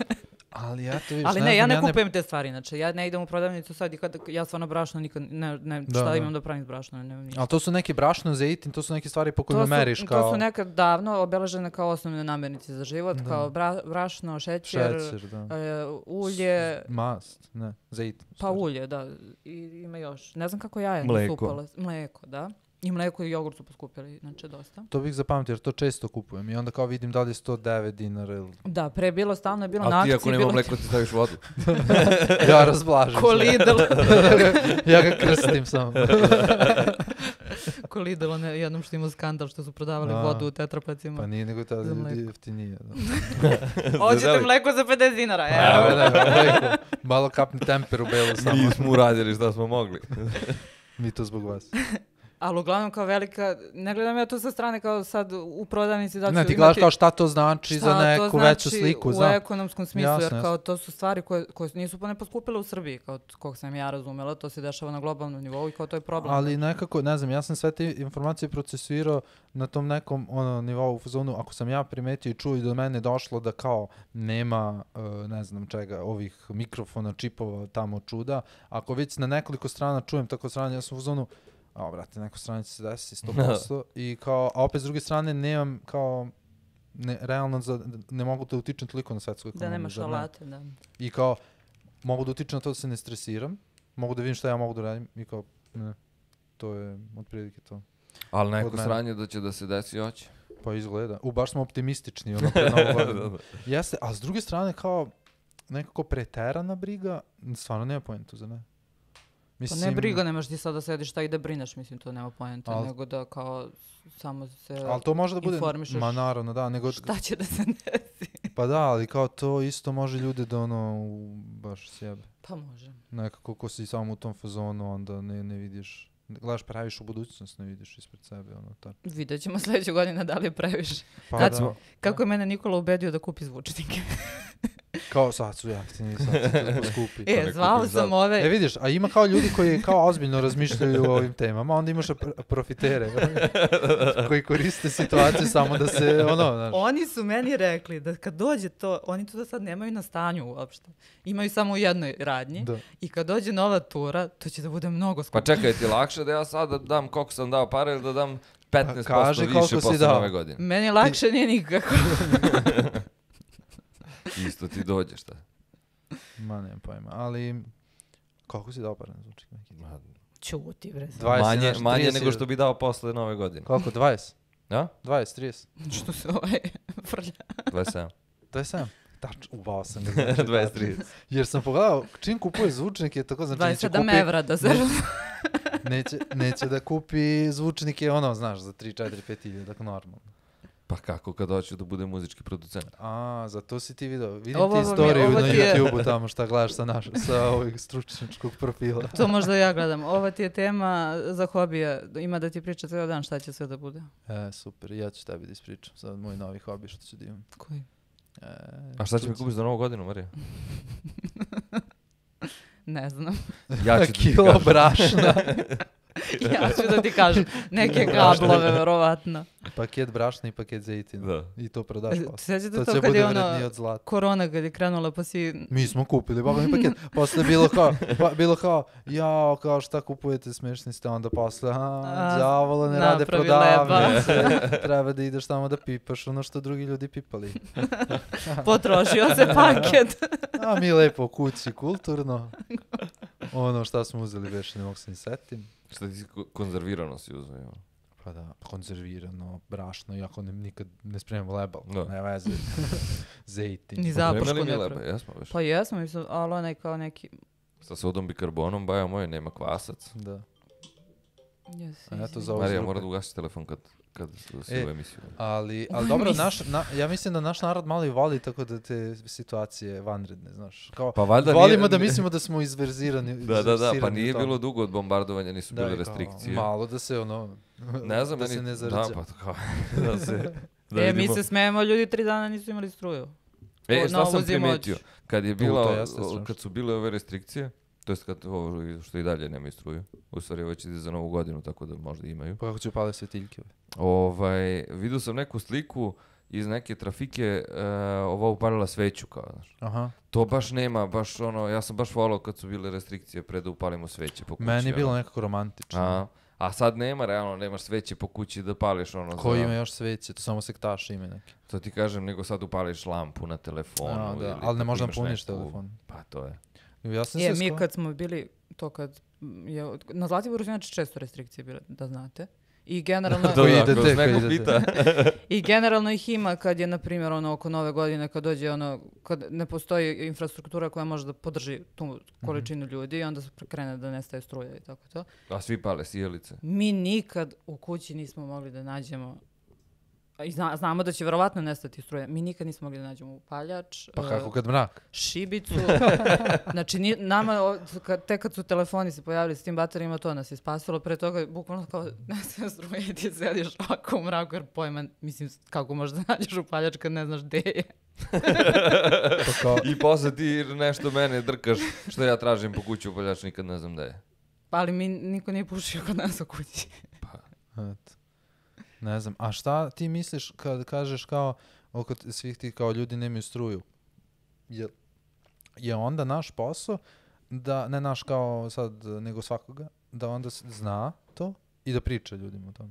ali ja to vidiš, Ali ne, ja znam, ne kupujem te stvari, znači ja ne idem u prodavnicu sad i kad ja stvarno brašno nikad, ne, ne Da, šta da. imam da pravim s brašnom, ne, ništa. Ali to su neki brašno, zejtin, to su neke stvari po To kojima su, meriš kao... to su nekad davno obeležene kao osnovne namirnice za život, Da. kao bra, brašno, šećer, Šećer, da. e, ulje, Mast, ne, zejtin. u pa stvari. ulje, da, i ima još. Ne znam kako jaja nisu Mleko. upale. Mleko, da. I mleko i jogurt su poskupili, znači dosta. To bih zapamtio jer to često kupujem i onda kao vidim da li je sto devet dinara ili... Da, pre je bilo stalno, je bilo na A ti akciji, ako nema bilo mleko ti staviš vodu. Ja razblažim. ko sve. Lidl. Ja ga krstim samo. ko Lidl, ne, jednom što imao skandal što su prodavali Da. vodu u tetrapacima. Pa nije nego tada Za mleko. jeftinije. Da. Hoćete Zadeli? mleko za pedeset dinara, Evo, evo. ne, mleko. Malo kapni temper u belu samo. Mi smo uradili šta smo mogli. Mi to zbog vas. Ali uglavnom kao velika, ne gledam ja to sa strane kao sad u prodavnici da ću Ne, ti imati- gledaš kao šta to znači šta za to neku veću znači sliku. u Za... ekonomskom smislu, Jasno, jer jasno. kao to su stvari koje, koje nisu pa ne poskupile u Srbiji, kao t- kog sam ja razumela, to se dešava na globalnom nivou i kao to je problem. Ali nekako, ne znam, ja sam sve te informacije procesuirao na tom nekom ono, nivou u fazonu, ako sam ja primetio i čuo i do mene došlo da kao nema, uh, ne znam čega, ovih mikrofona, čipova, tamo čuda, ako već na nekoliko strana čujem tako strane, ja sam u fazonu, a brate, neko strane će se desiti sto posto i kao, a opet s druge strane nemam kao, ne, realno za, ne mogu da utičem toliko na svetsku da ekonomiju. nemaš zar ne? alate, da. I kao, mogu da utičem na to da se ne stresiram, mogu da vidim šta ja mogu da radim i kao, ne, to je otprilike to. Ali neko sranje da će da se desi hoće. Pa izgleda. U, baš smo optimistični, ono, pred novu godinu. Jeste, a s druge strane, kao, nekako preterana briga, stvarno nema pojentu, za ne? Mislim, pa ne briga, nemaš ti sad da sediš šta i da brineš, mislim, to nema pojentu, al, nego da kao samo se informišeš. Ali to može da bude, ma naravno, da. Nego, šta će da se desi? Pa da, ali kao to isto može ljude da ono, baš sjebe. Pa može. Nekako ko si samo u tom fazonu, onda ne, ne vidiš. Gledaš, praviš u budućnost, ne vidiš ispred sebe, ono, tako. Vidjet ćemo sljedeće godine da li je previše. Pa Kad da. Smo, kako je mene Nikola ubedio da kupi zvučnike. Kao sad su jeftini, sad su to skupi. E, zvao sam ove... E, vidiš, a ima kao ljudi koji kao ozbiljno razmišljaju o ovim temama, onda imaš pr- profitere koji koriste situaciju samo da se, ono, znaš. Oni su meni rekli da kad dođe to, oni to da sad nemaju na stanju uopšte. Imaju samo u jednoj radnji da. I kad dođe nova tura, to će da bude mnogo skupo. Pa čekaj, ti lakše da ja sad da dam koliko sam dao pare ili da dam petnaest posto više posle nove godine? Meni lakše ti... nije nikako. Isto ti dođe, šta? Ma nemam pojma, ali koliko si dao par na zvučnik? Čuti, bre. Manje, manje nego što bi dao posle nove godine. Koliko, dvadeset? Ja? dvadeset, trideset. Što se ovaj frlja? dvadeset sedam. dvadeset sedam? Tač, uvao sam ga. Znači, dvadeset trideset. Jer sam pogledao, čim kupuje zvučnike, tako znači dvadeset sedam neće kupi... evra da se... neće, neće da kupi zvučnike, ono, znaš, za tri, četiri, pet hiljada, tako normalno. Pa kako kad hoću da bude muzički producent? A, zato si ti video. Vidim ovo, ti istoriju na je... YouTube-u tamo šta gledaš sa, naš, sa ovih stručničkog profila. To možda ja gledam. Ova ti je tema za hobija. Ima da ti priča cijel dan šta će sve da bude. E, super. Ja ću tebi da ispričam. Sad moj novi hobi što ću da imam. Koji? E, A šta će mi kupiš za novu godinu, Marija? Ne znam. Ja ću kilo brašna. Ja ću da ti kažem, neke kablove, verovatno. Paket brašna i paket zejtina. Da. I to prodaš posle. Sjećate to, to, to kad je ono od korona, kad je krenula, pa si... Mi smo kupili, boga mi paket. Posle bilo kao, pa, bilo kao, jao, kao šta kupujete, smešni ste, onda posle, a, đavola, ne rade prodavnice. Treba da ideš tamo da pipaš ono što drugi ljudi pipali. Potrošio se paket. A mi lepo kući, kulturno. Ono šta smo uzeli, već ne mogu se ni setim. Šta ti konzervirano si uzeo? Ja. Pa da, konzervirano, brašno, iako ne, nikad ne spremamo lebal. Da. Ne veze. Zejtin. Ni zapušku ne ne lebe, jesmo već. Pa jesmo, mislim, ali onaj kao neki... Sa sodom bikarbonom, baja moj, nema kvasac. Da. Yes, A eto za ovo Marija, mora da ugasi telefon kad, kad si e, u emisiju. Ali, ali dobro, naš, na, ja mislim da naš narod malo i voli tako da te situacije vanredne, znaš. Kao, pa valjda volimo nije, da mislimo da smo izverzirani. Da, da, da, pa nije bilo dugo od bombardovanja, nisu da, bile restrikcije. Kao, malo da se ono, ne znam, da meni, se ne zarđa. Da, pa kao, da se... Da e, mi se smijemo, ljudi tri dana nisu imali struju. E, šta sam primetio? Kad, je bila, to, jeste, kad su bile ove restrikcije, to jest kad ovo što i dalje nemaju struju. U stvari već ide za novu godinu, tako da možda imaju. Pa kako će upale svetiljke? Ovaj, vidio sam neku sliku iz neke trafike, uh, ova upalila sveću kao, znaš. Aha. To baš nema, baš ono, ja sam baš volao kad su bile restrikcije pre da upalimo sveće po kući. Meni je bilo ono. nekako romantično. A, a sad nema, realno, nemaš sveće po kući da pališ ono. Ko za... ima još sveće? To samo sektaše ima neke. To ti kažem, nego sad upališ lampu na telefonu. A, da. Ili ali ne možda puniš neku... telefon. Pa to je. Ja sam je, se mi sko... kad smo bili, to kad je, na Zlatiboru su inače često restrikcije bile, da znate. I generalno... da, da, kroz neko pita. I generalno ih ima kad je, na primjer, ono, oko nove godine, kad dođe ono, kad ne postoji infrastruktura koja može da podrži tu količinu mm-hmm. ljudi i onda se krene da nestaje struja i tako to. A svi pale sjelice. Mi nikad u kući nismo mogli da nađemo, i zna, znamo da će verovatno nestati struja, mi nikad nismo mogli da nađemo upaljač. Pa kako kad mrak? Šibicu. Znači, ni, nama, kad, te kad su telefoni se pojavili s tim baterijima, to nas je spasilo. Pre toga, bukvalno kao, ne sve struje i ti sediš ovako u mraku, jer pojma, mislim, kako možeš da nađeš upaljač kad ne znaš gde je. I posle ti nešto mene drkaš, što ja tražim po kući upaljač, nikad ne znam gde je. Pa ali mi niko nije pušio kod nas u kući. Pa, eto. Ne znam, a šta ti misliš kad kažeš kao oko svih ti kao ljudi nemaju struju? Je, je onda naš posao da, ne naš kao sad, nego svakoga, da onda zna to i da priča ljudima o tome?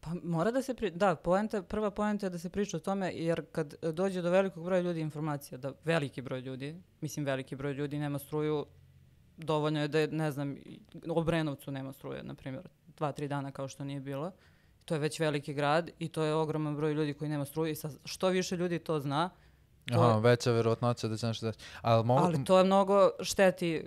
Pa mora da se, pri... da, poenta, prva poenta je da se priča o tome, jer kad dođe do velikog broja ljudi informacija, da veliki broj ljudi, mislim veliki broj ljudi nema struju, dovoljno je da je, ne znam, u Obrenovcu nema struje, na primjer, dva, tri dana kao što nije bilo. To je već veliki grad i to je ogroman broj ljudi koji nema struje i sa što više ljudi to zna. To Aha, je... veća verovatnoća da će nešto desiti. Ali, mogu... Ali to je mnogo šteti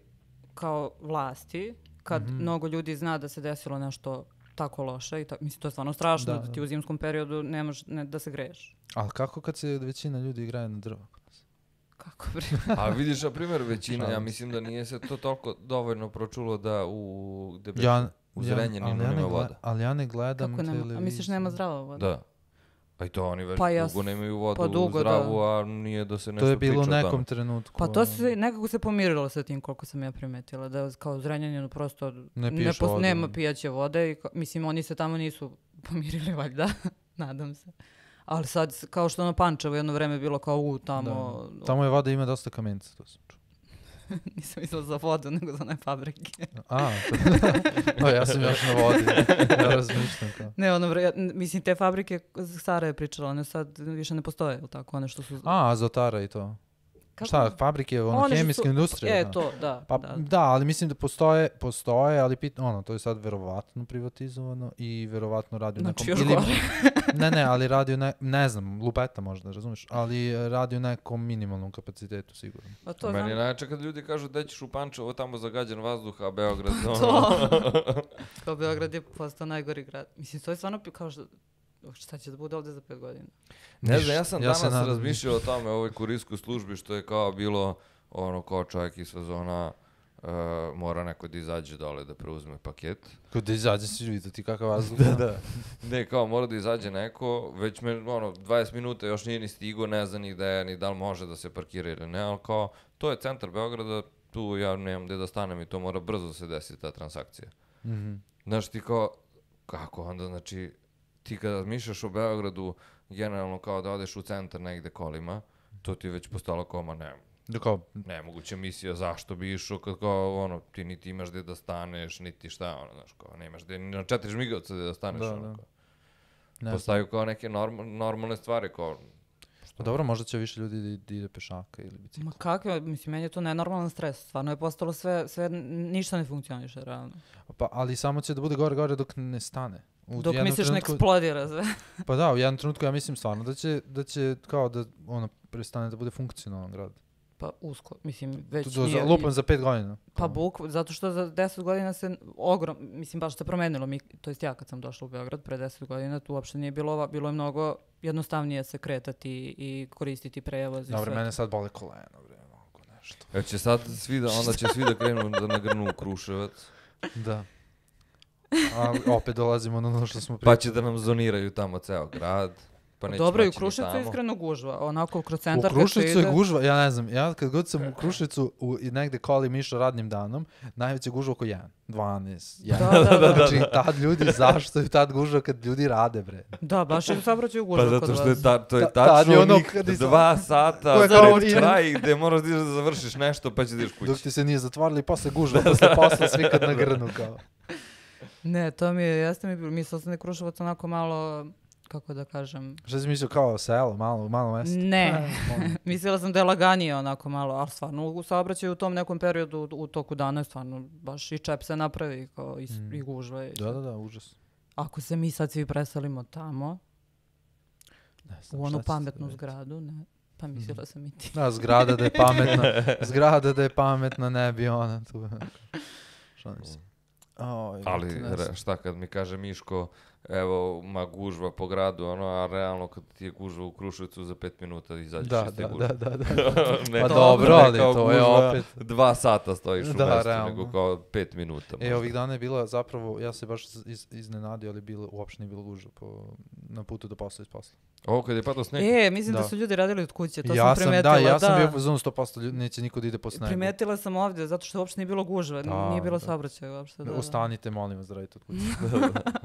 kao vlasti, kad mm-hmm. mnogo ljudi zna da se desilo nešto tako loše. I ta... Mislim, to je stvarno strašno, da, da ti u zimskom periodu nemaš ne, da se greješ. Ali kako kad se većina ljudi igraje na drvo? Kako bre? A vidiš, na primjer, većina, ja mislim da nije se to toliko dovoljno pročulo da u, gde ja, u Zrenjaninu ja, nema ne voda. Ali ja ne gledam Kako nema? televiziju. A misliš nema zdrava voda? Da. Pa i to oni već pa ja dugo nemaju vodu pa dugo, zdravu, da. a nije da se nešto To je bilo u nekom tamo. trenutku. Pa to se nekako se pomirilo sa tim koliko sam ja primetila, da kao Zrenjaninu prosto ne ne pos, vodu. nema pijaće vode i mislim oni se tamo nisu pomirili valjda, nadam se. Ali sad kao što na Pančevo jedno vreme bilo kao u tamo... Da. Tamo je voda ima dosta kamenca, to sam čuo. Nisam mislila za vodu, nego za one fabrike. A, to... o, ja sam još na vodi. Ja razmišljam kao. Ne, ono, vre, mislim, te fabrike, Sara je pričala, one sad više ne postoje, ili tako, one što su... A, azotara i to. Kako? Šta, fabrike, ono, one hemijske su... industrije? E, da. to, da. Pa, da. da, ali mislim da postoje, postoje, ali pit, ono, to je sad verovatno privatizovano i verovatno radi u nekom... Znači, još ili, gore. ne, ne, ali radi u ne, ne znam, lupeta možda, razumiješ, ali radi u nekom minimalnom kapacitetu, sigurno. Pa to Meni je znam... najče kad ljudi kažu da ćeš u Pančevo, tamo zagađen vazduh, a Beograd... ono... to. Kao Beograd je postao najgori grad. Mislim, to je stvarno kao što... Šta će da bude ovdje za pet godina? Ne znam, ja sam ja danas sam razmišljao o tome, o ovoj kurirskoj službi, što je kao bilo, ono, kao čovjek iz fazona, uh, mora neko da izađe dole da preuzme paket. Kao da izađe si vidjeti kakav vazduh. da, da. Ne, kao mora da izađe neko, već me, ono, dvadeset minuta još nije ni stigo, ne zna ni da je, ni da li može da se parkira ili ne, ali kao, to je centar Beograda, tu ja nemam gde da stanem i to mora brzo da se desi ta transakcija. Mm-hmm. Znaš ti kao, kako onda, znači, ti kada razmišljaš o Beogradu, generalno kao da odeš u centar negde kolima, to ti je već postalo koma, ne, Kao, nemoguća misija, zašto bi išao kad kao, ono, ti niti imaš gde da staneš, niti šta, ono, znaš, kao, nemaš gde, ni na četiri žmigavca gde da staneš, da, ono, da. kao. Ne Postaju kao neke norm, normalne stvari, kao... Pa dobro, možda će više ljudi da ide pešaka ili bicikla. Ma kakve, mislim, meni je to nenormalan stres. Stvarno je postalo sve, sve ništa ne funkcioniše, realno. Pa, ali samo će da bude gore, gore dok ne stane. U Dok jednom misliš trenutku, ne eksplodira sve. Pa da, u jednom trenutku ja mislim stvarno da će, da će kao da ono prestane da bude funkcionalan grad. Pa usko, mislim, već Do, nije... za, lupam za pet godina. Pa buk, zato što za deset godina se ogrom, mislim, baš se promenilo. Mi, to jest ja kad sam došla u Beograd pre deset godina, tu uopšte nije bilo ova, bilo je mnogo jednostavnije se kretati i koristiti prevoz i Dobre, sve. mene sad bole kolena, bre, mogu nešto. Jer će sad svi da, onda će svi da krenu da nagrnu u Kruševac, Da. A opet dolazimo na ono što smo pa pričali. će da nam zoniraju tamo ceo grad. Pa neće Dobro, i u moći ni Kruševcu je tamo. iskreno gužva. Onako kroz U centar kad se Kruševcu ide... je gužva, ja ne znam, ja kad god sam u Kruševcu u, i negde kolim išao radnim danom, najveća gužva oko jedan, dvanaest, jedan. Da, da, da. Znači, tad ljudi, zašto je tad gužva kad ljudi rade, bre? Da, baš je u saobraćaju gužva Pa kod zato što je vas. ta, to je Ta- tad je tačno ono onih kad je- dva sata Koje kao pred i- kraj gde moraš da ideš da završiš nešto pa će da ideš Dok kući. ti se nije zatvorili, posle gužva, posle posla svi kad nagrnu kao. Ne, to mi je, jeste mi bilo, mislila sam da je Kruševac onako malo, kako da kažem, Šta si mislio kao selo, malo, malo mesto? ne, Molim. mislila sam da je laganije onako malo, ali stvarno u saobraćaju u tom nekom periodu u, u toku dana je stvarno baš i čep se napravi kao i, Mm. i gužva. I, Da, da, da, užas. Ako se mi sad svi preselimo tamo, Ne znam, u šta onu će se pametnu desiti? zgradu, ne, pa mislila sam i ti. Da, zgrada da je pametna, zgrada da je pametna, ne bi ona tu. Šalim se. Oj, Ali ne znam. re, šta kad mi kaže Miško, evo, ma gužva po gradu, ono, a realno kad ti je gužva u Kruševcu za pet minuta izađeš Da, iz te da, gužve. da, da, da. Ne, Pa to- dobro, ne ali kao to je gužva, opet- Dva sata stojiš u Da, mestu, realno. nego kao pet minuta. E, možda. ovih dana je bila zapravo, ja se baš iz, iznenadio, ali bilo, uopšte nije bilo gužva po, na putu do posla iz posla. Ovo kad je padao sneg, E, mislim da. Da. su ljudi radili od kuće, to ja sam primetila. Da, ja sam bio za sto posto ljudi, neće niko da ide po snegu. Primetila sam ovdje, zato što uopšte nije bilo gužve, Da, nije bilo da. saobraćaja uopšte. Da, da. Ustanite, molim vas, da radite od kuće.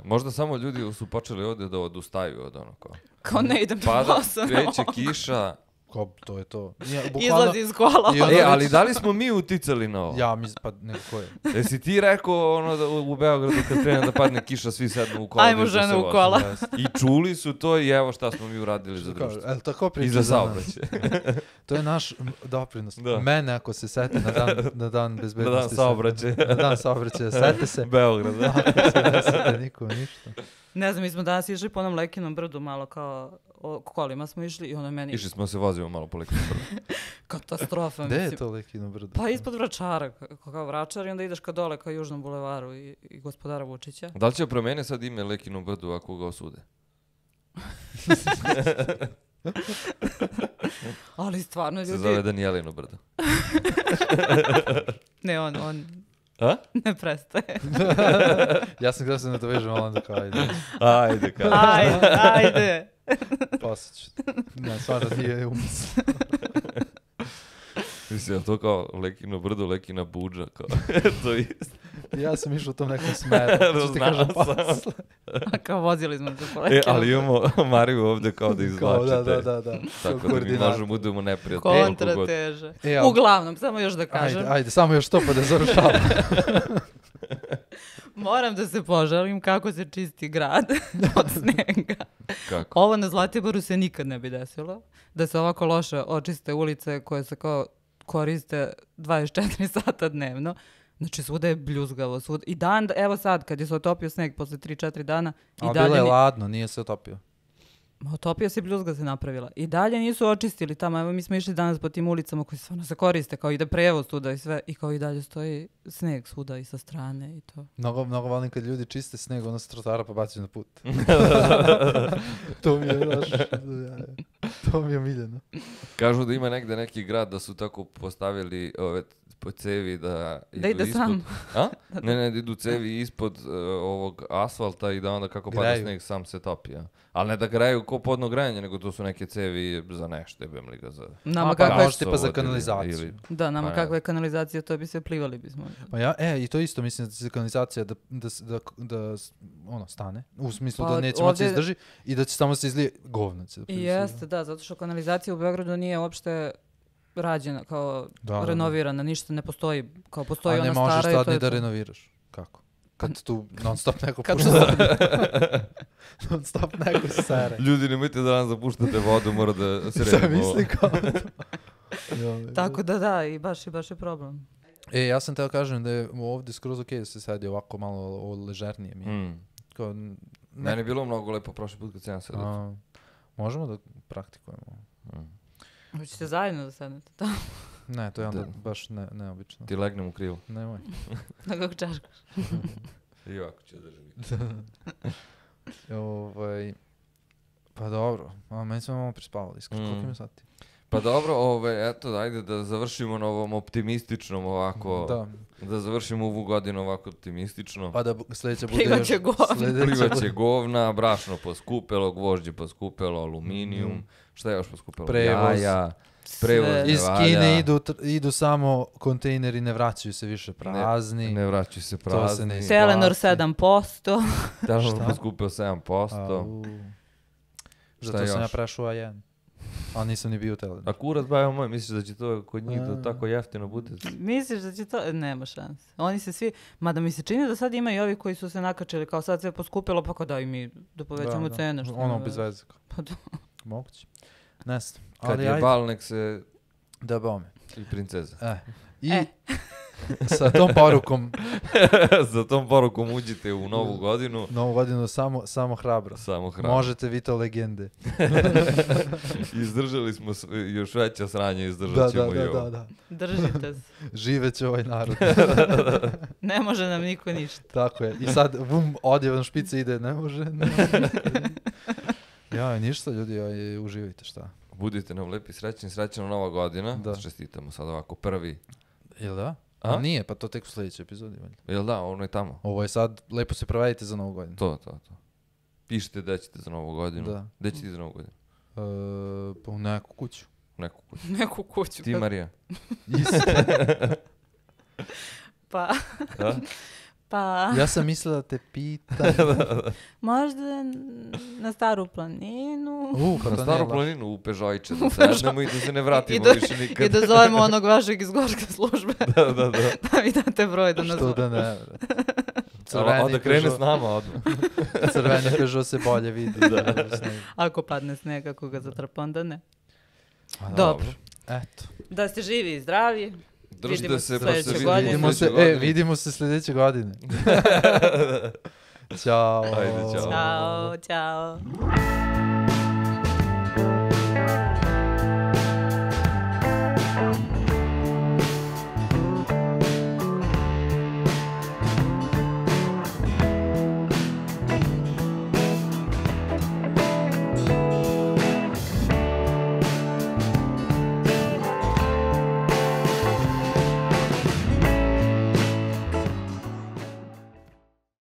možda samo ljudi su počeli ovdje da odustaju od ono kao. Kao ne idem na Pada, posao. kreće kiša, Kao, to je to. Ja, bukvalno, Izlazi iz kola. I onda E, ali već- da li smo mi uticali na ovo? Ja, mi, pa neko je. Jesi ti rekao ono da u u Beogradu kad krene da padne kiša svi sednu u kola? Ajmo da se žene u voze? kola. I čuli su to i evo šta smo mi uradili za Kao, društvo. el, tako priča I za za nas. saobraćaj. To je naš m, doprinos. Da. Mene ako se seti na dan, na dan Na bezbednosti. dan saobraćaja. Na dan saobraćaja. Sete se. Beograd, da? Ne sete nikom ništa. Ne znam, mi smo danas išli po onom Lekinom brdu malo kao o kolima smo išli i ono meni Išli smo se vozimo malo po Lekinom brdu. katastrofa. Gde je mislim. to Lekino brdo? Pa ispod Vračara, kao, kao Vračar i onda ideš ka dole ka Južnom bulevaru i, i gospodara Vučića. Da li će promene sad ime Lekinom brdu ako ga osude? Ali stvarno Se ljudi... zove Danijelino brdo. Ne, on, on A? ne prestaje. Ja sam gledao se na to vežem, ali onda kao ajde. Ajde, kao. Ajde, ajde. Posjeću. Ne, stvarno nije umis. Mislim, je to kao Lekino brdo, Lekina buđa, kao. To je isto. Ja sam išao u tom nekom smeru. Što ti Znao kažem sam. posle. A kao vozili smo se po E, Lekinom ali imamo Mariju ovde kao da Kao, izvlačite. da, da, da, da. Tako Kao da mi koordinator. možemo budemo neprijatni. koliko god. kontrateže. E, ali- Uglavnom, samo još da kažem, Ajde, ajde, samo još to pa da završavam. moram da se požalim kako se čisti grad od snega. Kako? Ovo na Zlatiboru se nikad ne bi desilo, da se ovako loše očiste ulice koje se kao koriste dvadeset četiri sata dnevno. Znači svuda je bljuzgavo, svuda. I dan, evo sad, kad je se otopio sneg posle tri četiri dana, i Ali dalje... bilo je ni- ladno, nije se otopio. Ma, otopio se i bljuzga se napravila. I dalje nisu očistili tamo. Evo mi smo išli danas po tim ulicama koji stvarno se koriste, kao ide prevoz tuda i sve. I kao i dalje stoji sneg svuda i sa strane i to. Mnogo, mnogo volim kad ljudi čiste sneg, ono sa trotara pa bacaju na put. To mi je, znaš, to mi je omiljeno. Kažu da ima negde neki grad da su tako postavili ove po cevi da Da idu ide ispod. sam. A? Ne, ne, da idu cevi ispod uh, ovog asfalta i da onda kako pada Graju. sneg sam se topi. Ja. Ali ne da graju ko podno grejanje, nego to su neke cevi za nešto, jebem li ga za... Nama A, pa kakva je, može tipa za gasovod ili- kanalizaciju. ili- da, nama Pa, kakva je kanalizacija, to bi se plivali bismo. Pa ja, e, i to isto mislim da će kanalizacija da, da, s- da, da, s- ono, stane. U smislu Pa, da neće moći ovdje- izdrži i da će samo se izlije govno. će da I prisiljuje. jeste, da, zato što kanalizacija u Beogradu nije uopšte rađena, kao Da, da, da. renovirana, ništa ne postoji, kao postoji A ne ona možeš stara i sad to ni je da to. renoviraš. Kako? Kad tu non stop neko Kad pušta. Non stop neko sere. Ljudi, nemojte da nam zapuštate vodu, mora da se Šta redimo. misli kao? Joj, Tako da da, i baš, i baš je problem. E, ja sam teo kažem da je ovdje skroz okej da se sedi ovako malo o ležernije mi. Mm. Kao, n- ne, Meni je bilo mnogo lepo prošli put kad sam ja sedao. a, možemo da praktikujemo. Mm. Hoćete zajedno da sednete tamo, Ne, to je onda Da. baš ne, neobično. Ti legnem u krilu. Nemoj. na kako čaškaš. I ovako ću držati. ovaj, pa dobro, a meni smo malo prispavali, iskreno, Mm. koliko ima sati? Pa dobro, ove, eto, ajde da završimo na ovom optimističnom ovako. Da, Da završimo ovu godinu ovako optimistično. pa da bu- sljedeća bude Plivaće još... govna. sljedeća Plivaće bude- govna, brašno poskupelo, gvožđe poskupelo, aluminijum, Mhm. šta je još poskupelo? Prevoz. Jaja, prevoz Sve. ne Iz valja, Kine idu, tr- idu samo kontejneri, ne vraćaju se više prazni. ne vraćaju se To se prazni. ne isplati. Telenor sedam posto. Telenor Šta? poskupio sedam posto. Au. Šta Zato sam ja još? prešao A jedan. Ali nisam ni bio u Telenor. A kurac bajo moj, misliš da će to kod njih da A. tako jeftino bude? Misliš da će to? Nema šanse. Oni se svi, mada mi se čini da sad ima i ovi koji su se nakačili, kao sad sve poskupilo, pa kao daj mi da povećamo Da, da. cene. Što Ono nema bez veze. veze. Pa da. Moguće. Ne znam. Kad Ali je ajde. bal, nek se Da bome. i princeza. E. I E. sa tom porukom Za tom porukom uđite u novu godinu. novu godinu samo, samo hrabro. Samo hrana. Možete vi to legende. Izdržali smo s- još veća sranja, izdržat Da, ćemo da, i da, ovo. da, da. Držite se. Živeće ovaj narod. Ne može nam niko ništa. Tako je. I sad, vum, odjevan špica ide, ne može. Ne može. Ja, ništa ljudi, aj, uživajte šta. Budite nam lepi, srećni, srećna nova godina. Da. Čestitamo sad ovako prvi. Jel da? A? A nije, pa to tek u sljedećoj epizodi. Valjda. Jel da, ono je tamo. Ovo je sad, lepo se provedite za novu godinu. To, to, to. Pišite da ćete za novu godinu. Da. Gde ćete za novu godinu? E, pa u neku kuću. Neku kuću. Neku kuću. Ti, Marija? Isto. Pa, Da? Pa, Ja sam mislila da te pitam. možda na Staru planinu. Uh, pa Na to staru nije loše. planinu u Pežojče, da sednemo i da se ne vratimo do- više nikad. I da zovemo onog vašeg iz gorske službe. da, da, da. Da mi date broj da nas Što da ne. A onda krene s nama odmah. Crveni Peugeot se bolje vidi. da. Ako padne sneg, ako ga zatrpa, onda ne. A, Dobro. Eto. Da ste živi i zdravi. Držite Vidimo se se pa se sljedeće vidimo godine. Vidimo se, sljedeće e, godine. vidimo se sljedeće godine. Ćao. Ajde, ćao. Ćao, ćao.